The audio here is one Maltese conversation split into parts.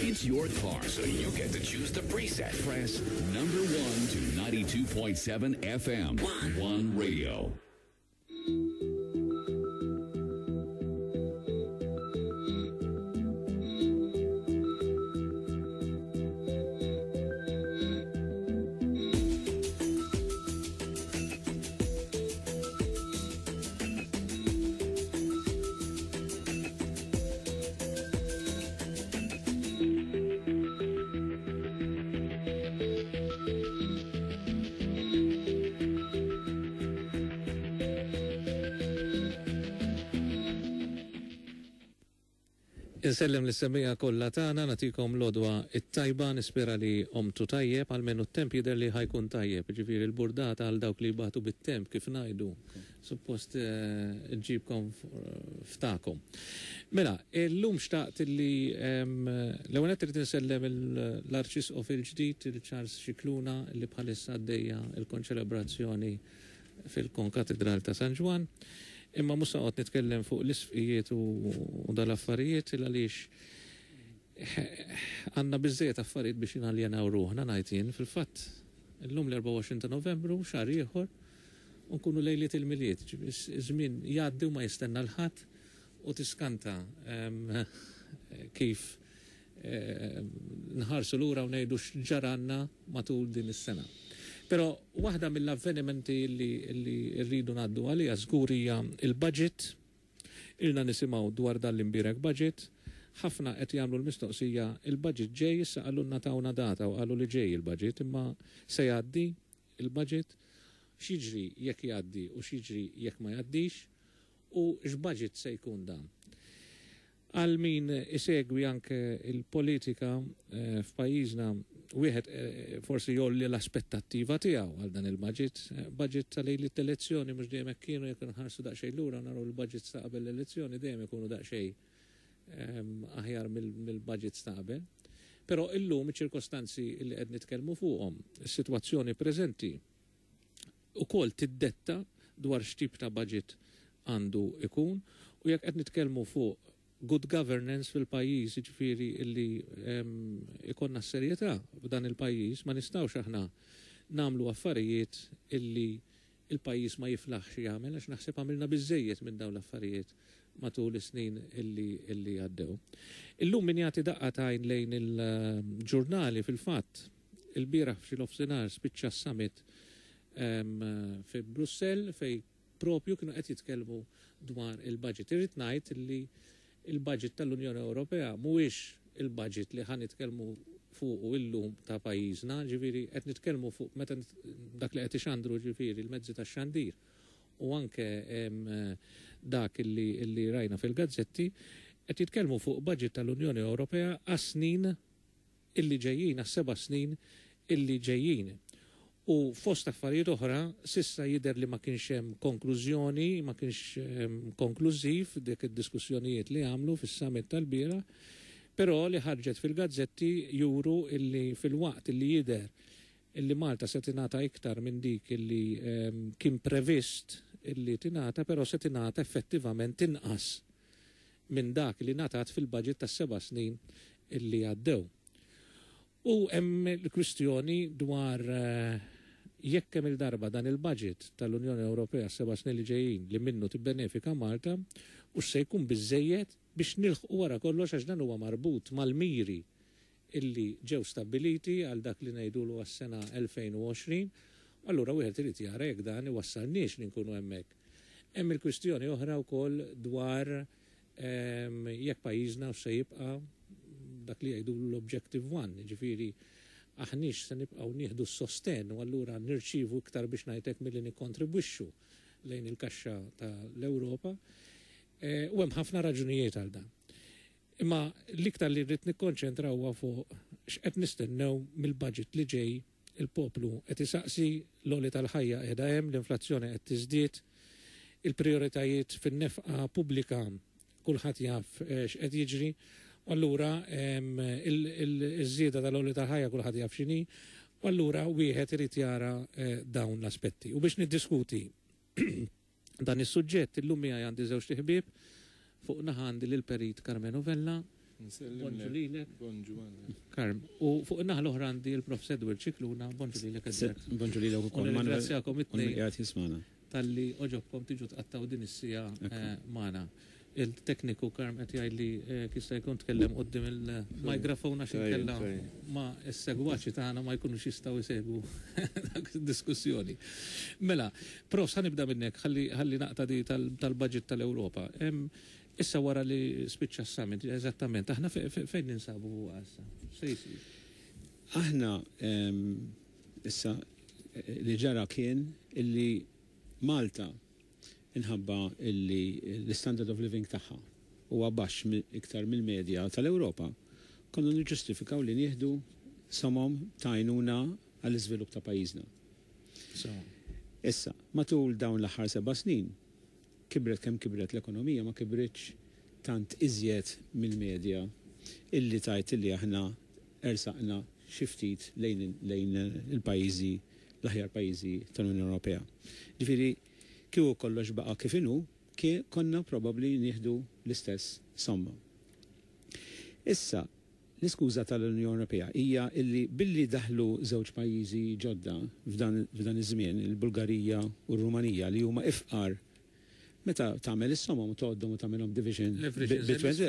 It's your car, so you get to choose the preset. Press number 1 to 92.7 FM. One Radio. Insellem lis-semmiegħa kollha tagħna, nagħtikom l-għodwa t-tajba, nispera li qomtu tajjeb, almenu t-temp jidher li ħa jkun tajjeb, jiġifieri l-burdata għal dawk li jbatu bit-temp kif ngħidu, suppost ġġibkom f'tagħkom. Mela, illum xtaqt li l-ewwel nett irrid insellem l-Arċisqof il-ġdid, il-Charles Scicluna, li bħalissa għaddejja l-konċelebrazzjoni fil-Konkatidral ta' San Ġwann. Imma mhux se noqgħod nitkellem fuq l-isfqijiet u dal-affarijiet il għaliex għandna biżżejjed affarijiet biex naljenaw ruħna ngħid jien. Fil-fatt, illum l-24 ta' Novembru, xahar ieħor, u nkunu lejliet il-Milied. Iż-żmien jgħaddi u ma jistenna 'l ħadd u tiskanta kif nħarsu lura u ngħidu x'ġaralna matul din is-sena. Però waħda mill-avvenimenti li rridu ngħaddu għaliha żgur hija l-budget. Ilna nisimgħu dwar dan l-imbierek budget. Ħafna qed jagħmlu l-mistoqsija, il-budget ġej, issa qalulna tawna data u qalu li ġej il-budget, imma se jgħaddi il-budget? X'jiġri jekk jgħaddi u x'jiġri jekk ma jgħaddix? U x'budget se jkun dan? Għal min isegwi anke l-politika f'pajjiżna, wieħed forsi jgħolli l-aspettattiva tiegħu għal dan il-budget. Budget ta' lejliet l-elezzjoni mhux dejjem hekk kienu, jekk inħarsu daqsxejn lura naraw il-budgets ta' qabel l-elezzjoni dejjem ikunu daqsxejn aħjar mill-budgets ta' qabel. Però illum iċ-ċirkostanzi li qed nitkellmu fuqhom, is-sitwazzjoni preżenti, ukoll tiddetta dwar x'tip ta' budget għandu jkun u jekk qed nitkellmu fuq good governance fil-pajjiż, jiġifieri li ikollna s-serjetà f'dan il-pajjiż, ma nistgħux aħna nagħmlu affarijiet illi l-pajjiż ma jiflaħx jagħmel għax naħseb għamilna biżżejjed minn dawn l-affarijiet matul is-snin illi illi għaddew. Illum min jagħti daqqa t'għajn lejn il-ġurnali fil-fatt Ilbieraħ f'xi nofsinhar spiċċa s-summit fi Brussell fejn propju kienu qed jitkellmu dwar il-budget. Irrid ngħid li l-budget tal-Unjoni Ewropea mhuwiex il-budget li ħa nitkellmu fuqu illum ta' pajjiżna, ġifieri qed nitkellmu fuq meta dak li qed ixandru ġifieri l-mezzi tax-xandir u anke dak li rajna fil-gazzetti, qed jitkellmu fuq budget tal-Unjoni Ewropea għas-snin illi ġejjin, għas-seba' snin illi ġejjin. U fost affarijiet oħra, s'issa jidher li ma kienx hemm konklużjoni, ma kienx konklużiv dik id-diskussjonijiet li għamlu fis-summit tal-bieraħ, però li ħarġet fil-gazzetti juru illi filwaqt illi jidher illi Malta se tingħata iktar minn dik illi kien previst illi tingħata, però se tingħata effettivament inqas minn dak li ngħatat fil-budget tas-seba' snin li għaddew. U hemm il-kwistjoni dwar jekk kemm-il darba dan il-budget tal-Unjoni Ewropea għas-seba' snin li ġejjin li minnu tibbenefika Malta hux se jkun biżżejjed biex nilħqu wara kollox għax dan huwa marbut mal-miri illi ġew stabbiliti għal dak li ngħidulu għas-sena 2020, u allura wieħed irid jara jekk dan iwassalniex li nkunu hemmhekk. Hemm il-kwistjoni oħra wkoll dwar jekk pajjiżna hux se jibqa' dak li jgħidulu l-objective one, jiġifieri aħniex se nibqgħu nieħdu s-sostenn u allura nirċievu iktar biex ngħid hekk milli nikkontribwixxu lejn il-kaxxa ta' l-Ewropa. U hemm ħafna raġunijiet għal dan. Imma l-iktar li rrid nikkonċentra huwa fuq x'qed nistennew mill-budget li ġej, il-poplu qed isaqsi, l-għoli tal-ħajja qiegħda hemm, l-inflazzjoni qed tiżdied, il-prijoritajiet fin-nefqa pubblika kulħadd jaf x'qed jiġri, u allura iż-żieda tal-għoli tal-ħajja kulħadd jaf x'inhi, u allura wieħed irid jara dawn l-aspetti. U biex niddiskuti dan is-suġġett, illum miegħi għandi żewġt iħbieb. Fuq naħa għandi lill-Perit Karmenu Vella. Bonġu lilek. Bonġu Karm. U fuq in-naħa l-oħra għandi l-Prof. Edward Scicluna. Bonġu lilek, Edward. Bonġu lilek ukoll. Nirringrazzjakom it-tnejn. Qiegħed jismagħna. Talli għoġobkom tiġu tqattgħu din is-siegħa magħna. Il-tekniku Karm qed jgħidli jista' jkun tkellem quddiem il-microphone għax inkella ma s-segwaċi tagħna ma jkunux jistgħu jsegwu dak id-diskussjoni. Mela, Profs, ħa nibda minnek ħalli ħalli naqta' di tal-budget tal-Ewropa. Issa wara li spiċċa s-summit, eżattament, aħna fejn ninsabu issa? Se jsir? Aħna issa li ġara kien illi Malta, inħabba illi l-standard of living tagħha huwa baxx iktar mill-medja tal-Ewropa, konna niġġustifikaw li nieħdu somom ta' għajnuna għall-iżvilupp ta' pajjiżna. Issa, matul dawn l-aħħar 7 snin, kibret kemm kibret l-ekonomija, ma kibritx tant iżjed mill-medja illi tajt illi aħna ersaqna xi ftit lejn il-pajjiżi, l-aħjar pajjiżi tal-Unjoni Ewropea. Ġifieri, kieku kollox baqa' kif inhu, konna probabbli nieħdu l-istess somma. Issa, l-iskuża tal-Unjoni Ewropea hija illi billi daħlu żewġ pajjiżi ġodda f'dan iż-żmien, il-Bulgarija u r-Rumanija, li huma ifqar, meta tagħmel is-somom u tgħoddhom u tagħmelhom division,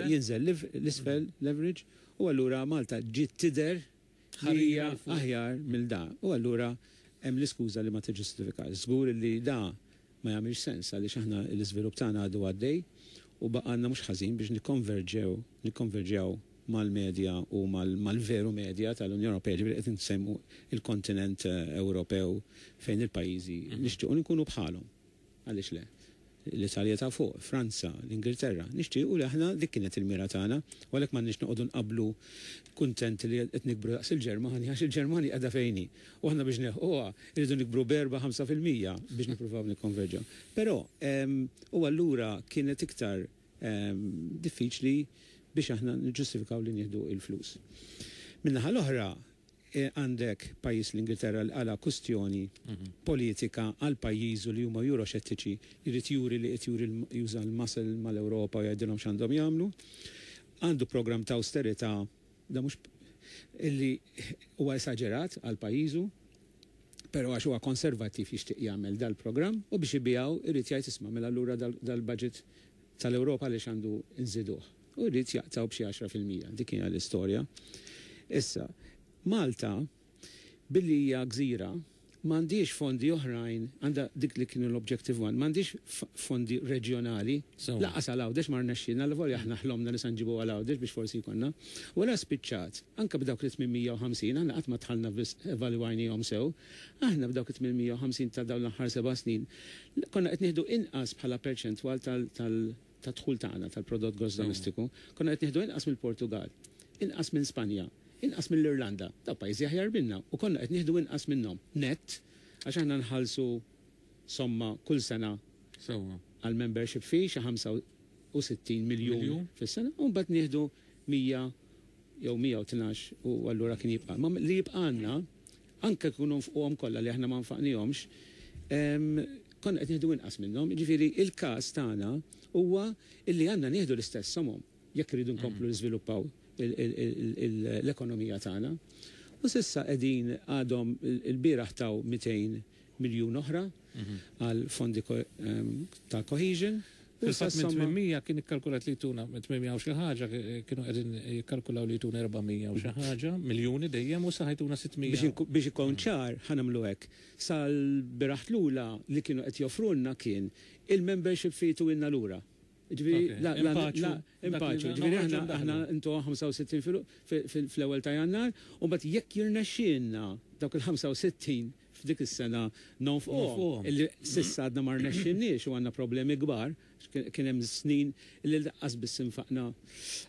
jinżel l-isfel leverage u allura Malta ġiet tidher li hija aħjar mill da. U allura hemm l-iskuża li ma tiġġustifika. Żgur li da ma jagħmilx sens għaliex aħna l-iżvilupp tagħna għadu għaddej u baqgħalna mhux ħażin biex nikkonverġew mal-medja u mal-veru medja tal-Unjoni Ewropea, ġifieri qed nsemmu il-kontinent Ewropew fejn il-pajjiżi nixtiequ nkunu bħalhom. Għaliex le? L-Italja ta' fuq, Franza, l-Ingilterra. Nixtiequ li aħna dik kienet il-mira tagħna, u għalhekk m'għandniex noqogħdu nqablu kuntenti li qed nikbru daqs il-Ġermanja, għax il-Ġermanja qiegħda fejn hi. U aħna biex nilħquha irridu nikbru b'4-5% biex nippruvaw nikkonverġaw. Però u allura kienet iktar diffiċli biex aħna niġġustifikaw li nieħdu il-flus. Min-naħa l-oħra, għandek pajjiż l-Ingilterra li għala kustjoni politika għal pajjiżu li huma euroxettiċi, jrid juri li qed juri juża l-muscle mal-Ewropa u jgħidilhom x'għandhom jagħmlu. Għandu program ta' austerità da mhux illi huwa esaġerat għal pajjiżu, però għax huwa konservattiv jixtieq jagħmel dal-programm u biex ibijaw irid jgħid, "Isma', mela allura dal-budget tal-Ewropa għaliex għandu nżiduh?" U jrid jaqtaw b'xi 10%. Dik hija l-istorja. Issa, Malta, billi hija gżira, m'għandix fondi oħrajn, għandha dik li kienu l-Objective One, m'għandix fondi reġjonali, lanqas għal Għawdex ma rnexxilna, l aħna ħlomna li se nġibu għal Għawdex biex forsi jkollna. Wara spiċċat, anke b'dawk li 850, aħna qatt ma dħalna evalwajnihom sew, aħna b'dawk 850 ta' dawn l-aħħar 7 snin, konna qed nieħdu inqas bħala perċentwal tal-dħul tagħna tal-prodott gross domestiku, konna qed nieħdu inqas mill-Portugal, inqas minn Spanja, inqas mill-Irlanda, ta' pajjiżi aħjar minna, u konna qed nieħdu inqas minnhom. Net, għax aħna nħallsu somma kull sena għal membership fee xi 65 miljun fis-sena, u mbagħad nieħdu 100 jew 112 u allura kien jibqa'. Ma li jibqa' għandna, anke kunu nfquhom kollha li aħna ma nfaqnihomx, konna qed nieħdu inqas minnhom. Ġifieri il-każ tagħna huwa illi għandna nieħdu l-istess somom jekk iridu nkomplu niżviluppaw l-ekonomija tagħna. U s'issa qegħdin għadhom il-bieraħ taw 200 miljun oħra għal fondi ta' cohesion. Fil-fatt minn 800 kien ikkalkulat li tuna, minn 800 u xi ħaġa kienu qegħdin jikkalkulaw li tuna 400 u xi ħaġa miljuni dejjem u sa ħajtuna 600. Biex ikun ċar, ħa nagħmlu hekk. Sal-bieraħ lura li kienu qed joffrulna kien il-membership fee tuhielna lura. Ġifieri, la, la, la, impaċu. Ġifieri, aħna intu 65 fl-ewwel ta' Jannar, u mbagħad jekk jirnexxielna dawk il-65 f'dik is-sena nonfquhom, illi s'issa għadna ma rnexxinniex u għandna problemi kbar, kien hemm snin li lanqas biss infaqna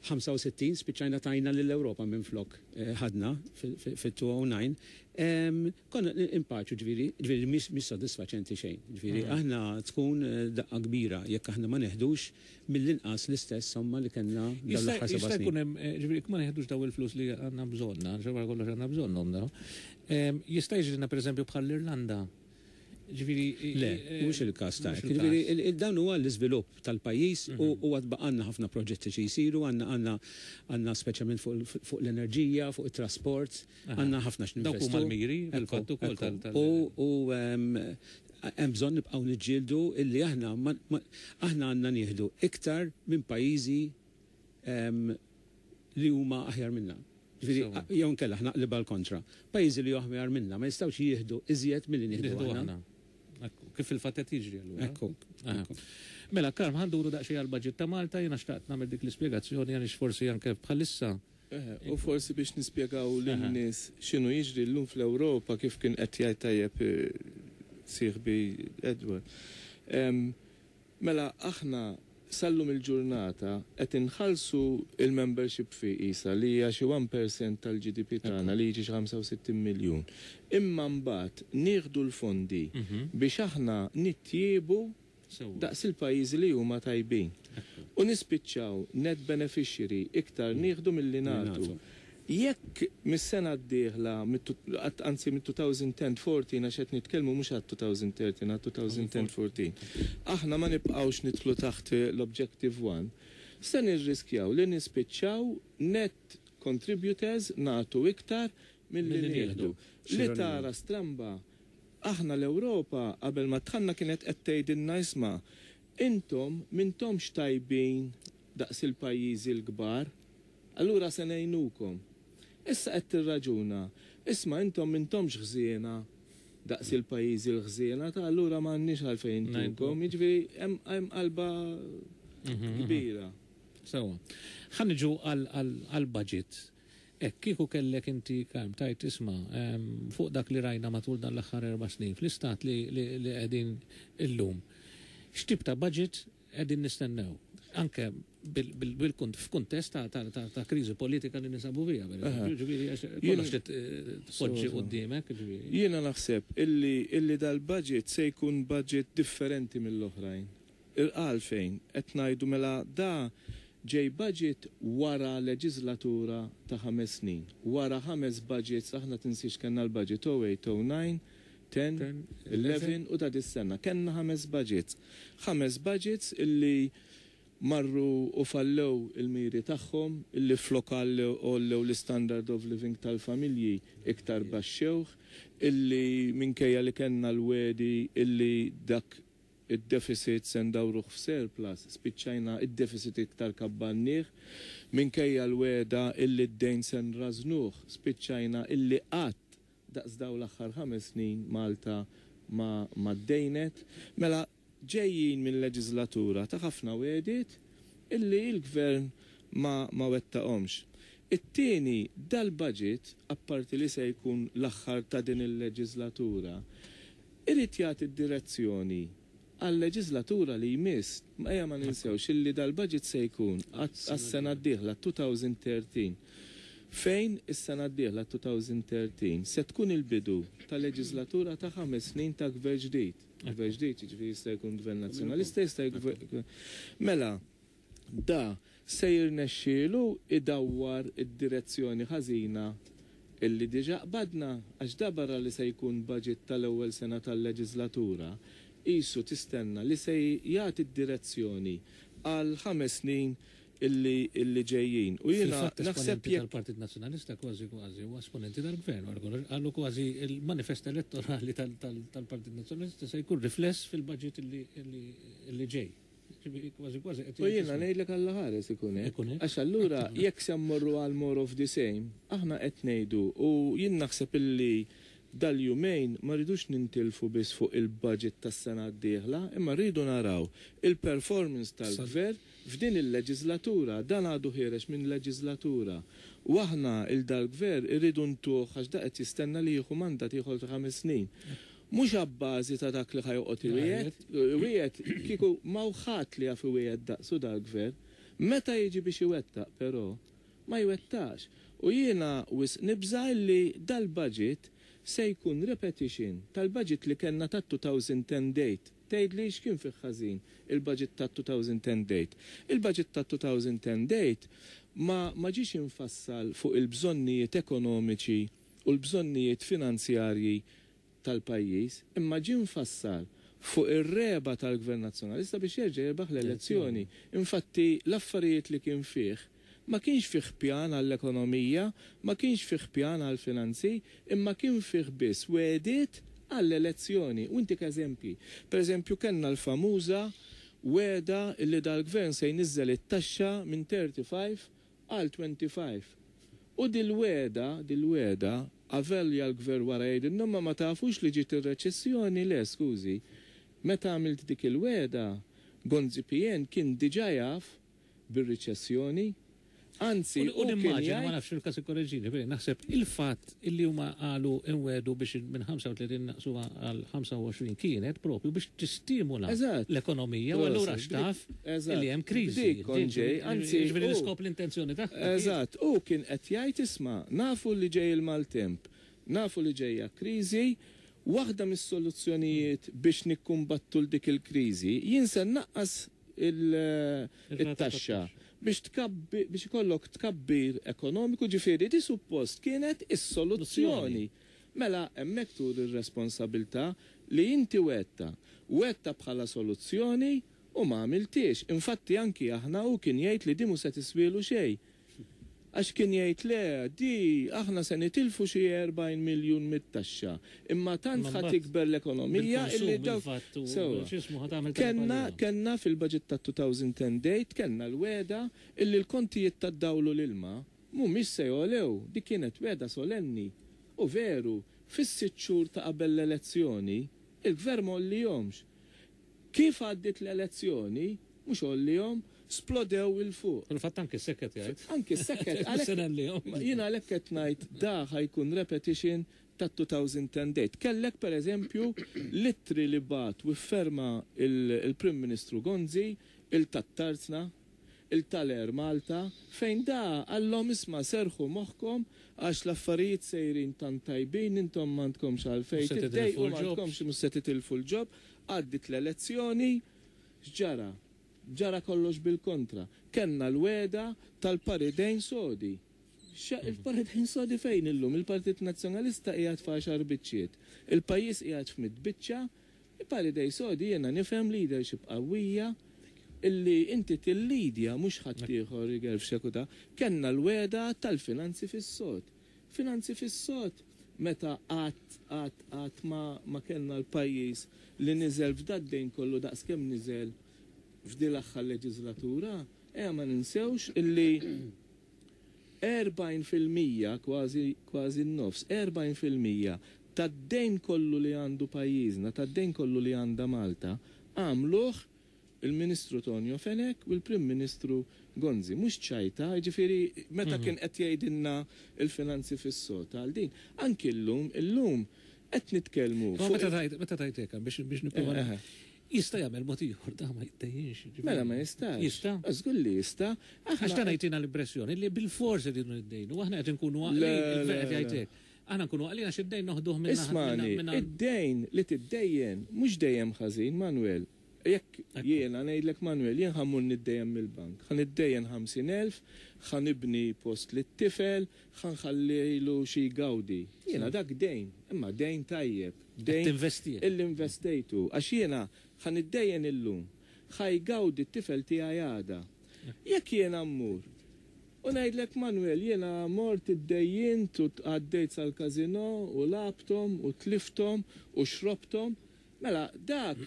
65, spiċċajna tajna lill-Ewropa minn flok ħadna fit-2009. Konna impaċu, ġifieri mhix sodisfaċenti xejn. Ġifieri aħna tkun daqqa kbira jekk aħna ma neħdux mill-inqas l-istess somma li kellna dawn l-aħħar 7 Jista' snin. Jkun hemm, ġifieri ma neħdux daw il-flus li għandna bżonna, ġewwa kollox għandna bżonnhom daw. Jista' jiġrina pereżempju bħal l-Irlanda. Ġifieri. Le, mhux il-każ ta'. Ġifieri dan huwa l-iżvilupp tal-pajjiż u għad baqgħalna ħafna proġetti xi jsiru, għandna għandna għandna speċjalment fuq l-enerġija, fuq it-trasport, għandna ħafna x'ninvestu. Dawk huma l-miri fil-fatt ukoll tal. U hemm bżonn nibqgħu niġġieldu illi aħna aħna għandna nieħdu iktar minn pajjiżi li huma aħjar minna. Ġifieri, jew inkella ħa naqlibha l-kontra. Pajjiżi li aħjar minna ma jistgħux jieħdu iżjed milli nieħdu aħna. Kif fil-fatt qed jiġri allura. Ekku. Mela, Karm, ħa nduru daqsxejn għall-budget ta' Malta, jiena xtaqt nagħmel dik l-ispjegazzjoni għaliex forsi anke bħalissa. U forsi biex nispjegaw lin-nies x'inhu jiġri llum fl-Ewropa, kif kien qed jgħid tajjeb sieħbi Edward. Mela aħna sal-lum il-ġurnata qed inħallsu il-membership fee isa li hija xi 1% tal-GDP tagħna, li jiġi xi 65 miljun. Imma mbagħad nieħdu l-fondi biex aħna nittjiebu daqs il-pajjiżi li huma tajbin. U nispiċċaw net beneficiary, iktar nieħdu milli nagħtu. Jekk mis-sena d-dieħla, anzi mit-2010-14, għax qed nitkellmu mhux għat 2013, għat 2010-14, aħna ma nibqgħux nidħlu taħt l-Objective 1, se nirriskjaw li nispiċċaw net contributors, nagħtu iktar milli nieħdu. Li tara stramba, aħna l-Ewropa qabel ma dħalna kienet qed tgħidilna, "Isma', intom m'intomx tajbin daqs il-pajjiżi l-kbar, allura se ngħinukom." Issa qed tirraġuna, "Isma', intom m'intomx ħżiena daqs il-pajjiżi l-ħżiena, ta' allura m'għandniex għalfejn intukom." Jiġifieri hemm qalba kbira. Sewa. Ħa niġu għal-budget. Ek, kieku kellek inti, Karm, tgħid, isma', fuq dak li rajna matul dan l-aħħar 4 snin, fl-istat li qegħdin illum, x'tip ta' budget qegħdin nistennew? Anke f'kuntest ta' kriżi politika li ninsabu fiha, per eżempju, ġifieri, għax kollox li tpoġġi quddiemek, ġifieri. Jiena naħseb illi dal-budget se jkun budget differenti mill-oħrajn. Għalfejn qed ngħidu? Mela da ġej budget wara leġislatura ta' 5 snin. Wara ħames budgets, aħna tinsiex kellna l-budget 08, 09, 10, 11 u ta' dis-sena. Kellna ħames budgets. Ħames budgets illi marru u fallew il-miri tagħhom, illi flok għollew l-standard of living tal-familji iktar baxxewh, illi minkejja li kellna l-wegħdi illi dak id-deficit se ndawruh f'surplus, spiċċajna id-deficit iktar kabbarnieh, minkejja l-wegħda illi d-dejn se nrażnuh, spiċċajna illi qatt daqs daw l-aħħar 5 snin Malta ma ddejnet. Mela ġejjin minn leġislatura ta' ħafna wegħdiet illi il-gvern ma wettaqhomx. It-tieni, dal-budget, apparti li se jkun l-aħħar ta' din il-leġislatura, irid jagħti d-direzzjoni għal-leġislatura li jmiss. Ejja ma ninsewx illi dal-budget se jkun għas-sena d-dieħla 2013. Fejn is-sena d-dieħla 2013 se tkun il-bidu ta' leġislatura ta' 5 snin ta' gvern ġdid. Gvern ġdid, jiġifieri jista' jkun gvern nazzjonalista, jista' jkun. Mela, da se jirnexxielu idawwar id-direzzjoni ħażina illi diġa qbadna, għax da barra li se jkun budget tal-ewwel sena tal-leġislatura, isu tistenna li se jagħti d-direzzjoni għal 5 snin illi ġejjin. U jiena naħseb jekk tal-Partit Nazzjonalista kważi kważi u esponenti tal-gvern, għallu kważi il-manifest elettorali tal-Partit Nazzjonalista se jkun rifless fil-budget illi ġej. Kważi kważi. U jiena ngħidlek, Alla ħares ikun hekk. Għax allura jekk se mmorru għal more of the same, aħna qed ngħidu, u jien naħseb illi dal-jumejn ma rridux nintilfu biss fuq il-budget tas-sena d-dieħla, imma rridu naraw il-performance tal-gvern f'din il-leġislatura. Dan għadu ħiereġ minn leġislatura. U aħna lil dal-gvern irridu ntuh, għax da qed jistenna li jieħu mandat ieħor ta' 5 snin. Mhux abbażi ta' dak li ħa joqgħod iwiegħed, iwiegħed kieku m'hawn ħadd li jaf iwiegħed daqsu dal-gvern. Meta jiġi biex iwettaq però, ma jwettax. U jiena wisq nibża li dal-budget se jkun repetition tal-budget li kellna ta' 2010 date. Tgħid li x'kien fih ħażin il-budget ta' 2010 date? Il-budget ta' 2010 date ma ġiex infassal fuq il-bżonnijiet ekonomiċi u l-bżonnijiet finanzjarji. tal-pajjiż, imma ġie mfassal fuq ir-regħba tal-Gvern Nazzjonalista biex jerġa' jirbaħ l-elezzjoni. Infatti l-affarijiet li kien fih, ma kienx fih pjan għall-ekonomija, ma kienx fih pjan għall-finanzi, imma kien fih biss wegħdiet għall-elezzjoni. U ntik eżempji. Per eżempju, kellna l-famuża wegħda li dal-gvern se jniżżel it-taxxa minn 35 għal 25. U dil-wegħda, dil-wegħda, avolja l-gvern wara jgħidilna ma ma tafux li ġiet ir-reċessjoni, le, skużi. Meta għamilt dik il-wegħda, Gonzi PN kien diġà jaf bir-riċessjoni. Anzi, U nimmaġina, ma nafx il-każ ikkoreġini, naħseb il-fatt illi huma qalu inwedu biex minn 35 naqsuha għal 25 kienet propju biex tistimula l-ekonomija u allura xtaf illi hemm kriżi. Anzi, jiġifieri l-iskop l-intenzjoni tagħha. Eżatt, u kien qed jgħid isma' nafu li ġej il-maltemp, nafu li ġejja kriżi, waħda mis-soluzzjonijiet biex nikkumbattu l dik il-kriżi jien se naqqas it-taxxa biex biex ikollok tkabbir ekonomiku, ġifieri di suppost kienet is-soluzzjoni. Mela hemmhekk tur ir-responsabilità li inti wegħedtha. Wegħedtha bħala soluzzjoni u ma għamiltiex. Infatti anki aħna u kien jgħid li di mhu se tiswielu xejn. Għax kien jgħid le, di aħna se nitilfu xi 40 miljun mit-taxxa. Imma tant ħa tikber l-ekonomija illi dawk. Kellna kellna fil-budget ta' 2010 kellna l-wegħda illi l-kontijiet tad-dawl u l-ilma mhumiex se jogħlew. Dik kienet wegħda solenni. U veru, fis-6 xhur ta' qabel l-elezzjoni, il-gvern ma għollihomx. Kif għaddiet l-elezzjoni, mhux għollihom, splodew 'il fuq. Fil-fatt anki s-seket jgħid. Anki s-seket. Jiena għalhekk qed ngħid da ħa jkun repetition ta' 2008. Kellek per eżempju l-ittri li bagħat u fferma il-Prim Ministru Gonzi, il-tat-Tarzna, il-tal-Air Malta, fejn da qallhom isma' serrħu moħħkom għax l-affarijiet sejrin tant tajbin, intom m'għandkomx għalfejn tiddejqu, m'għandkomx mhux se titilfu l-job. Għaddiet l-elezzjoni, x'ġara? Ġara kollox bil-kontra. Kellna l-wegħda tal-paridejn sodi. Il-paridejn sodi fejn illum? Il-Partit Nazzjonalista qiegħed f'għaxar biċċiet. Il-pajjiż qiegħed f'mitt biċċa. Il-paridej sodi jiena nifhem leadership qawwija illi inti tillidja mhux ħaddieħor igerfxek u da. Kellna l-wegħda tal-finanzi fis-sod. Finanzi fis-sod meta qatt qatt qatt ma ma kellna l-pajjiż li niżel f'dad-dejn kollu daqskemm niżel f'din l-aħħar leġiżlatura. Ejja ma ninsewx illi 40%, kważi kważi n-nofs, 40% tad-dejn kollu li għandu pajjiżna, tad-dejn kollu li għandha Malta, għamluh il-Ministru Tonio Fenech u l-Prim Ministru Gonzi. Mhux ċajta, jiġifieri meta kien qed jgħidilna l-finanzi fis-sod għal din. Anki llum, illum qed nitkellmu fuq. Meta tgħid meta tgħid hekk biex biex nipprova jista' jagħmel mod ieħor da ma jiddejjinx. Mela ma jistax. Jista'? Żgur li jista'. Għax dan jtina l-impressjoni li bilfors irridu niddejnu, aħna qed inkunu għaqlin, il-gvern qed jgħid hekk. Aħna nkunu għaqlin għax id-dejn noħduh minn. Ismagħni, id-dejn li tiddejjen mhux dejjem ħażin, Manuel. Jekk jiena ngħidlek Manuel, jien ħa mmur niddejjen mill-bank, ħa niddejjen 50,000, ħa nibni post lit-tifel, ħa nħallilu xi jgawdi. Jiena dak dejn, imma dejn tajjeb, dejn illi investejtu għax jiena ħa niddejjen illum, ħa jgawdi t-tifel tiegħi għada. Jekk jiena mmur u ngħidlek Manuel jiena mort iddejjint u għaddejt sal-każinò u lgħabthom u tlifthom u xrobthom, Mela dak,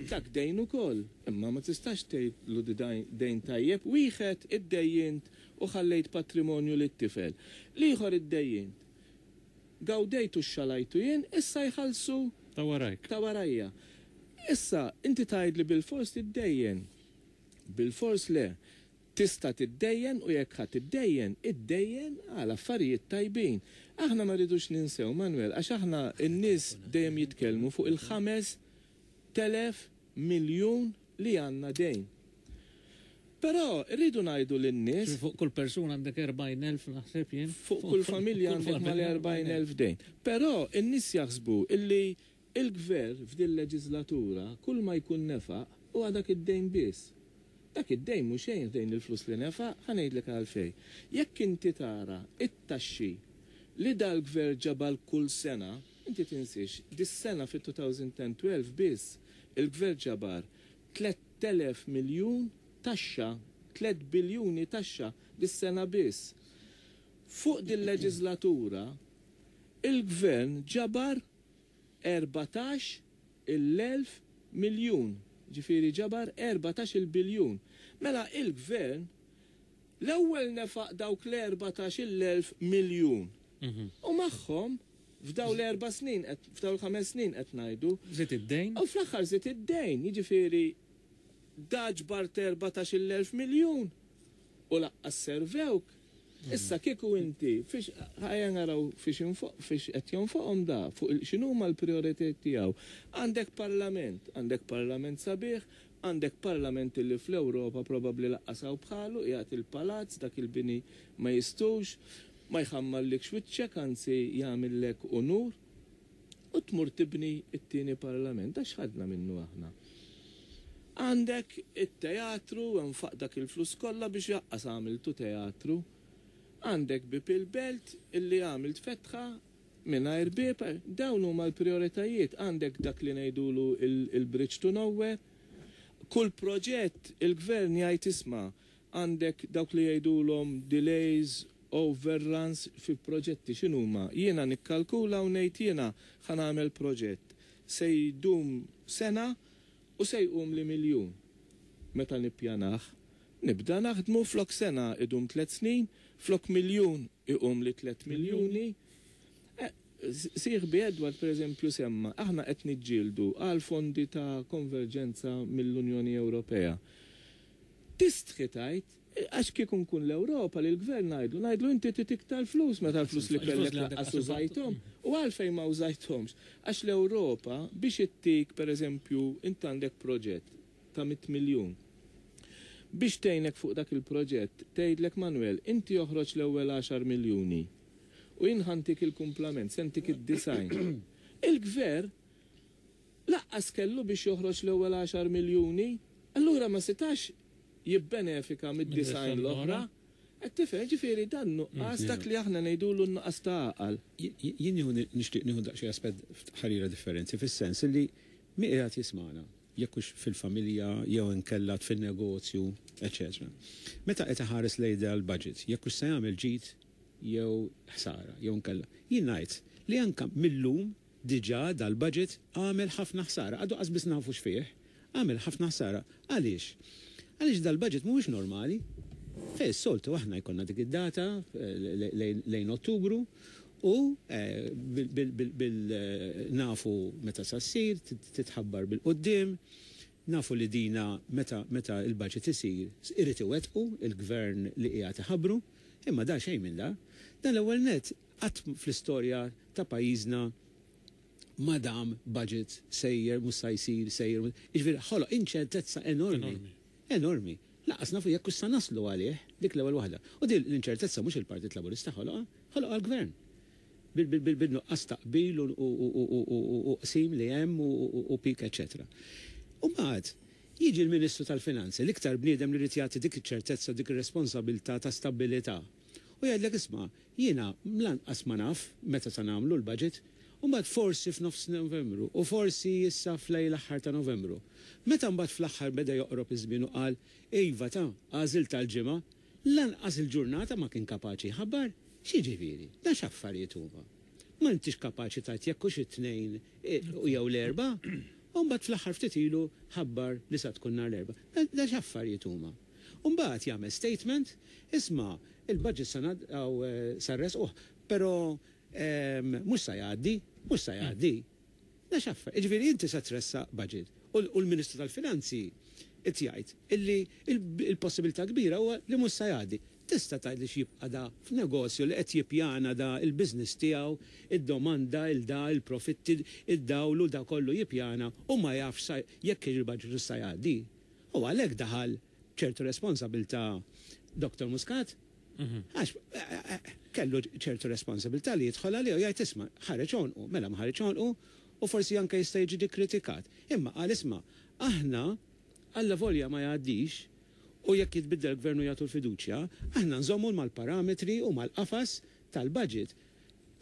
dak dejn ukoll. Imma ma tistax tgħidlu di dejn tajjeb. Wieħed iddejjint u ħallejt patrimonju lit-tifel. L-ieħor iddejjint. Gawdejt u xxalajtu jien, issa jħallsu Ta' warajk. Ta' warajja. Issa, inti tgħidli bilfors tiddejjen. Bilfors le. Tista' tiddejjen u jekk ħa tiddejjen, iddejjen għal affarijiet tajbin. Aħna ma rridux ninsew, Manuel, għax aħna n-nies dejjem jitkellmu fuq il-5,000 miljun li għandna dejn. Però rridu ngħidu lin-nies. Fuq kull persuna għandek 40,000 naħseb jien. Fuq kull familja għandek mal-40,000 dejn. Però n-nies jaħsbu illi Il-Gvern f'din leġiżlatura kull ma jkun nefaq huwa dak id-dejn biss. Dak id-dejn mhu xejn ħdejn il-flus li nefaq, ħa ngħidlek għalfejn. Jekk inti tara t-taxxi li dal-Gvern ġabar kull sena, Inti tinsiex, dis-sena fit-2010-12 biss il-Gvern ġabar 3,000 miljun taxxa, 3 biljuni taxxa dis-sena biss. Fuq dil-leġislatura il-Gvern ġabar 14,000 miljun, ġifieri ġabar 14-il biljun. Mela il-Gvern l-ewwel nefaq dawk l-14,000 miljun. U magħhom f'daw l-4 snin, f'daw l-5 snin qed ngħidu. Żied id-dejn. U fl-aħħar żied id-dejn, jiġifieri da ġbart 14,000 miljun u laqqas servewk. Issa kieku inti, fiex ħajja naraw fiex infoq, fiex qed jonfoqhom da, fuq x'inhuma l-prijoritajiet tiegħu. Għandek parlament, għandek parlament sabiħ, għandek parlament illi fl-Ewropa probabbli laqqas hawn bħalu, qiegħed il-palazz, dak il-bini ma jistux, ma jħammarlikx wiċċek, anzi jagħmillek unur, u tmur tibni t-tieni parlament, għax ħadna minnu aħna. Għandek it-teatru, nfaq dak il-flus kollha biex jaqqas għamiltu teatru. Għandek bieb il-belt illi għamilt fetħa mingħajr bieb, dawn huma l-prijoritajiet. Għandek dak li ngħidulu il-bridge to nowhere. Kull proġett il-gvern jgħid isma' għandek dawk li jgħidulhom delays, overruns fi proġetti x'inhuma. Jiena nikkalkula u ngħid jiena ħa nagħmel proġett se jdum sena u se jqum li miljun. Meta nippjanah, nibda naħdmu flok sena idum 3 snin, flok miljun iqum li 3 miljuni. Sieħbi Edward per eżempju semma, aħna qed niġġieldu għal fondi ta' konverġenza mill-Unjoni Ewropea. Tistħi tgħid, għax kieku nkun l-Ewropa li l-gvern ngħidlu, ngħidlu inti trid iktar flus meta l-flus li kellek lanqas użajthom. U għalfejn ma użajthomx? Għax l-Ewropa biex ittik per eżempju int għandek proġett ta' 100 miljun. Biex tgħinek fuq dak il-proġett, tgħidlek Manuel, inti oħroġ l-ewwel 10 miljuni u jien ħantik il-kumplament, se ntik id-design. Il-gvern laqqas kellu biex joħroġ l-ewwel 10 miljuni, allura ma setax jibbenefika mid-design l-oħra. Qed tifhem, ġifieri dan nuqqas dak li aħna ngħidulu n-nuqqas ta' għaqal. Jien nixtieq nieħu daqsxejn aspett ħarira differenti fis-sens li min qiegħed jismagħna, jekk hux fil-familja jew inkella fin-negozju, eċetera. Meta qed iħares lejn dal-budget, jekk hux se jagħmel ġid jew ħsara, jew inkella. Jien ngħid li anke millum diġà dal-budget għamel ħafna ħsara, għadu qas biss nafu x'fih, għamel ħafna ħsara. Għaliex? Għaliex dal-budget mhuwiex normali. Fej s-soltu aħna jkollna dik id-data lejn Ottubru u nafu meta sa ssir, titħabbar bil-quddiem, nafu li dina meta il-budget isir irid iwettqu il-gvern li qiegħed iħabbru, imma da xejn minn da. Dan l-ewwel net qatt fl-istorja ta' pajjiżna ma dam budget sejjer, mhux sa jsir, sejjer, jiġifieri ħoloq inċertezza enormi. Enormi. Lanqas nafu jekk sa naslu għalih, dik l-ewwel waħda. U din l-inċertezza mhux il-Partit Laburista ħoloqha, ħoloqha l-gvern. Bil-nuqqas ta' qbil u qsim li hemm u pik, eċetera. U mbagħad jiġi l-Ministru tal-Finanzi, l-iktar bniedem li jrid jagħti dik iċ-ċertezza, dik ir-responsabilità ta' stabilità. U jgħidlek isma', jiena lanqas ma naf meta sa nagħmlu l-budget, u mbagħad forsi f'nofs Novembru, u forsi issa f'lejl aħħar ta' Novembru. Meta mbagħad fl-aħħar beda joqrob iż-żmien u qal, iva ta' għażil tal-ġimgħa, lanqas il-ġurnata ma kien kapaċi jħabbar. X'jiġifieri? Dan x'affarijiet huma? Ma intix kapaċi tgħid jekk hux it-Tnejn jew l-Erbgħa, u mbagħad fl-aħħar ftit ilu ħabbar li sa tkun nhar l-Erbgħa. Dan x'affarijiet huma? U mbagħad jagħmel statement, isma' il-budget sa sa nressquh, però mhux sa jgħaddi, mhux sa jgħaddi. Dan x'affar? Jiġifieri inti sa tressaq budget u l-Ministru tal-Finanzi qed jgħid illi l-possibilità kbira huwa li mhux sa jgħaddi. Tista' tgħid li x'jibqa' da f'negozju li qed jippjana da l-business tiegħu, id-domanda, il-da, il-profitti, id-dawl u da kollu jippjana u ma jafx jekk il-budget hux sa jgħaddi. U għalhekk daħal b'ċertu responsabilità Dr. Muscat. Għax kellu ċertu responsabilità li jidħol għalih u jgħid isma' ħareġ għonqu, mela ma ħareġ għonqu u forsi anke jista' jiġi kritikat. Imma qal isma' aħna alla volja ma jgħaddix u jekk jitbiddel gvern u jagħtu l-fiduċja, aħna nżommu mal-parametri u mal-qafas tal-budget.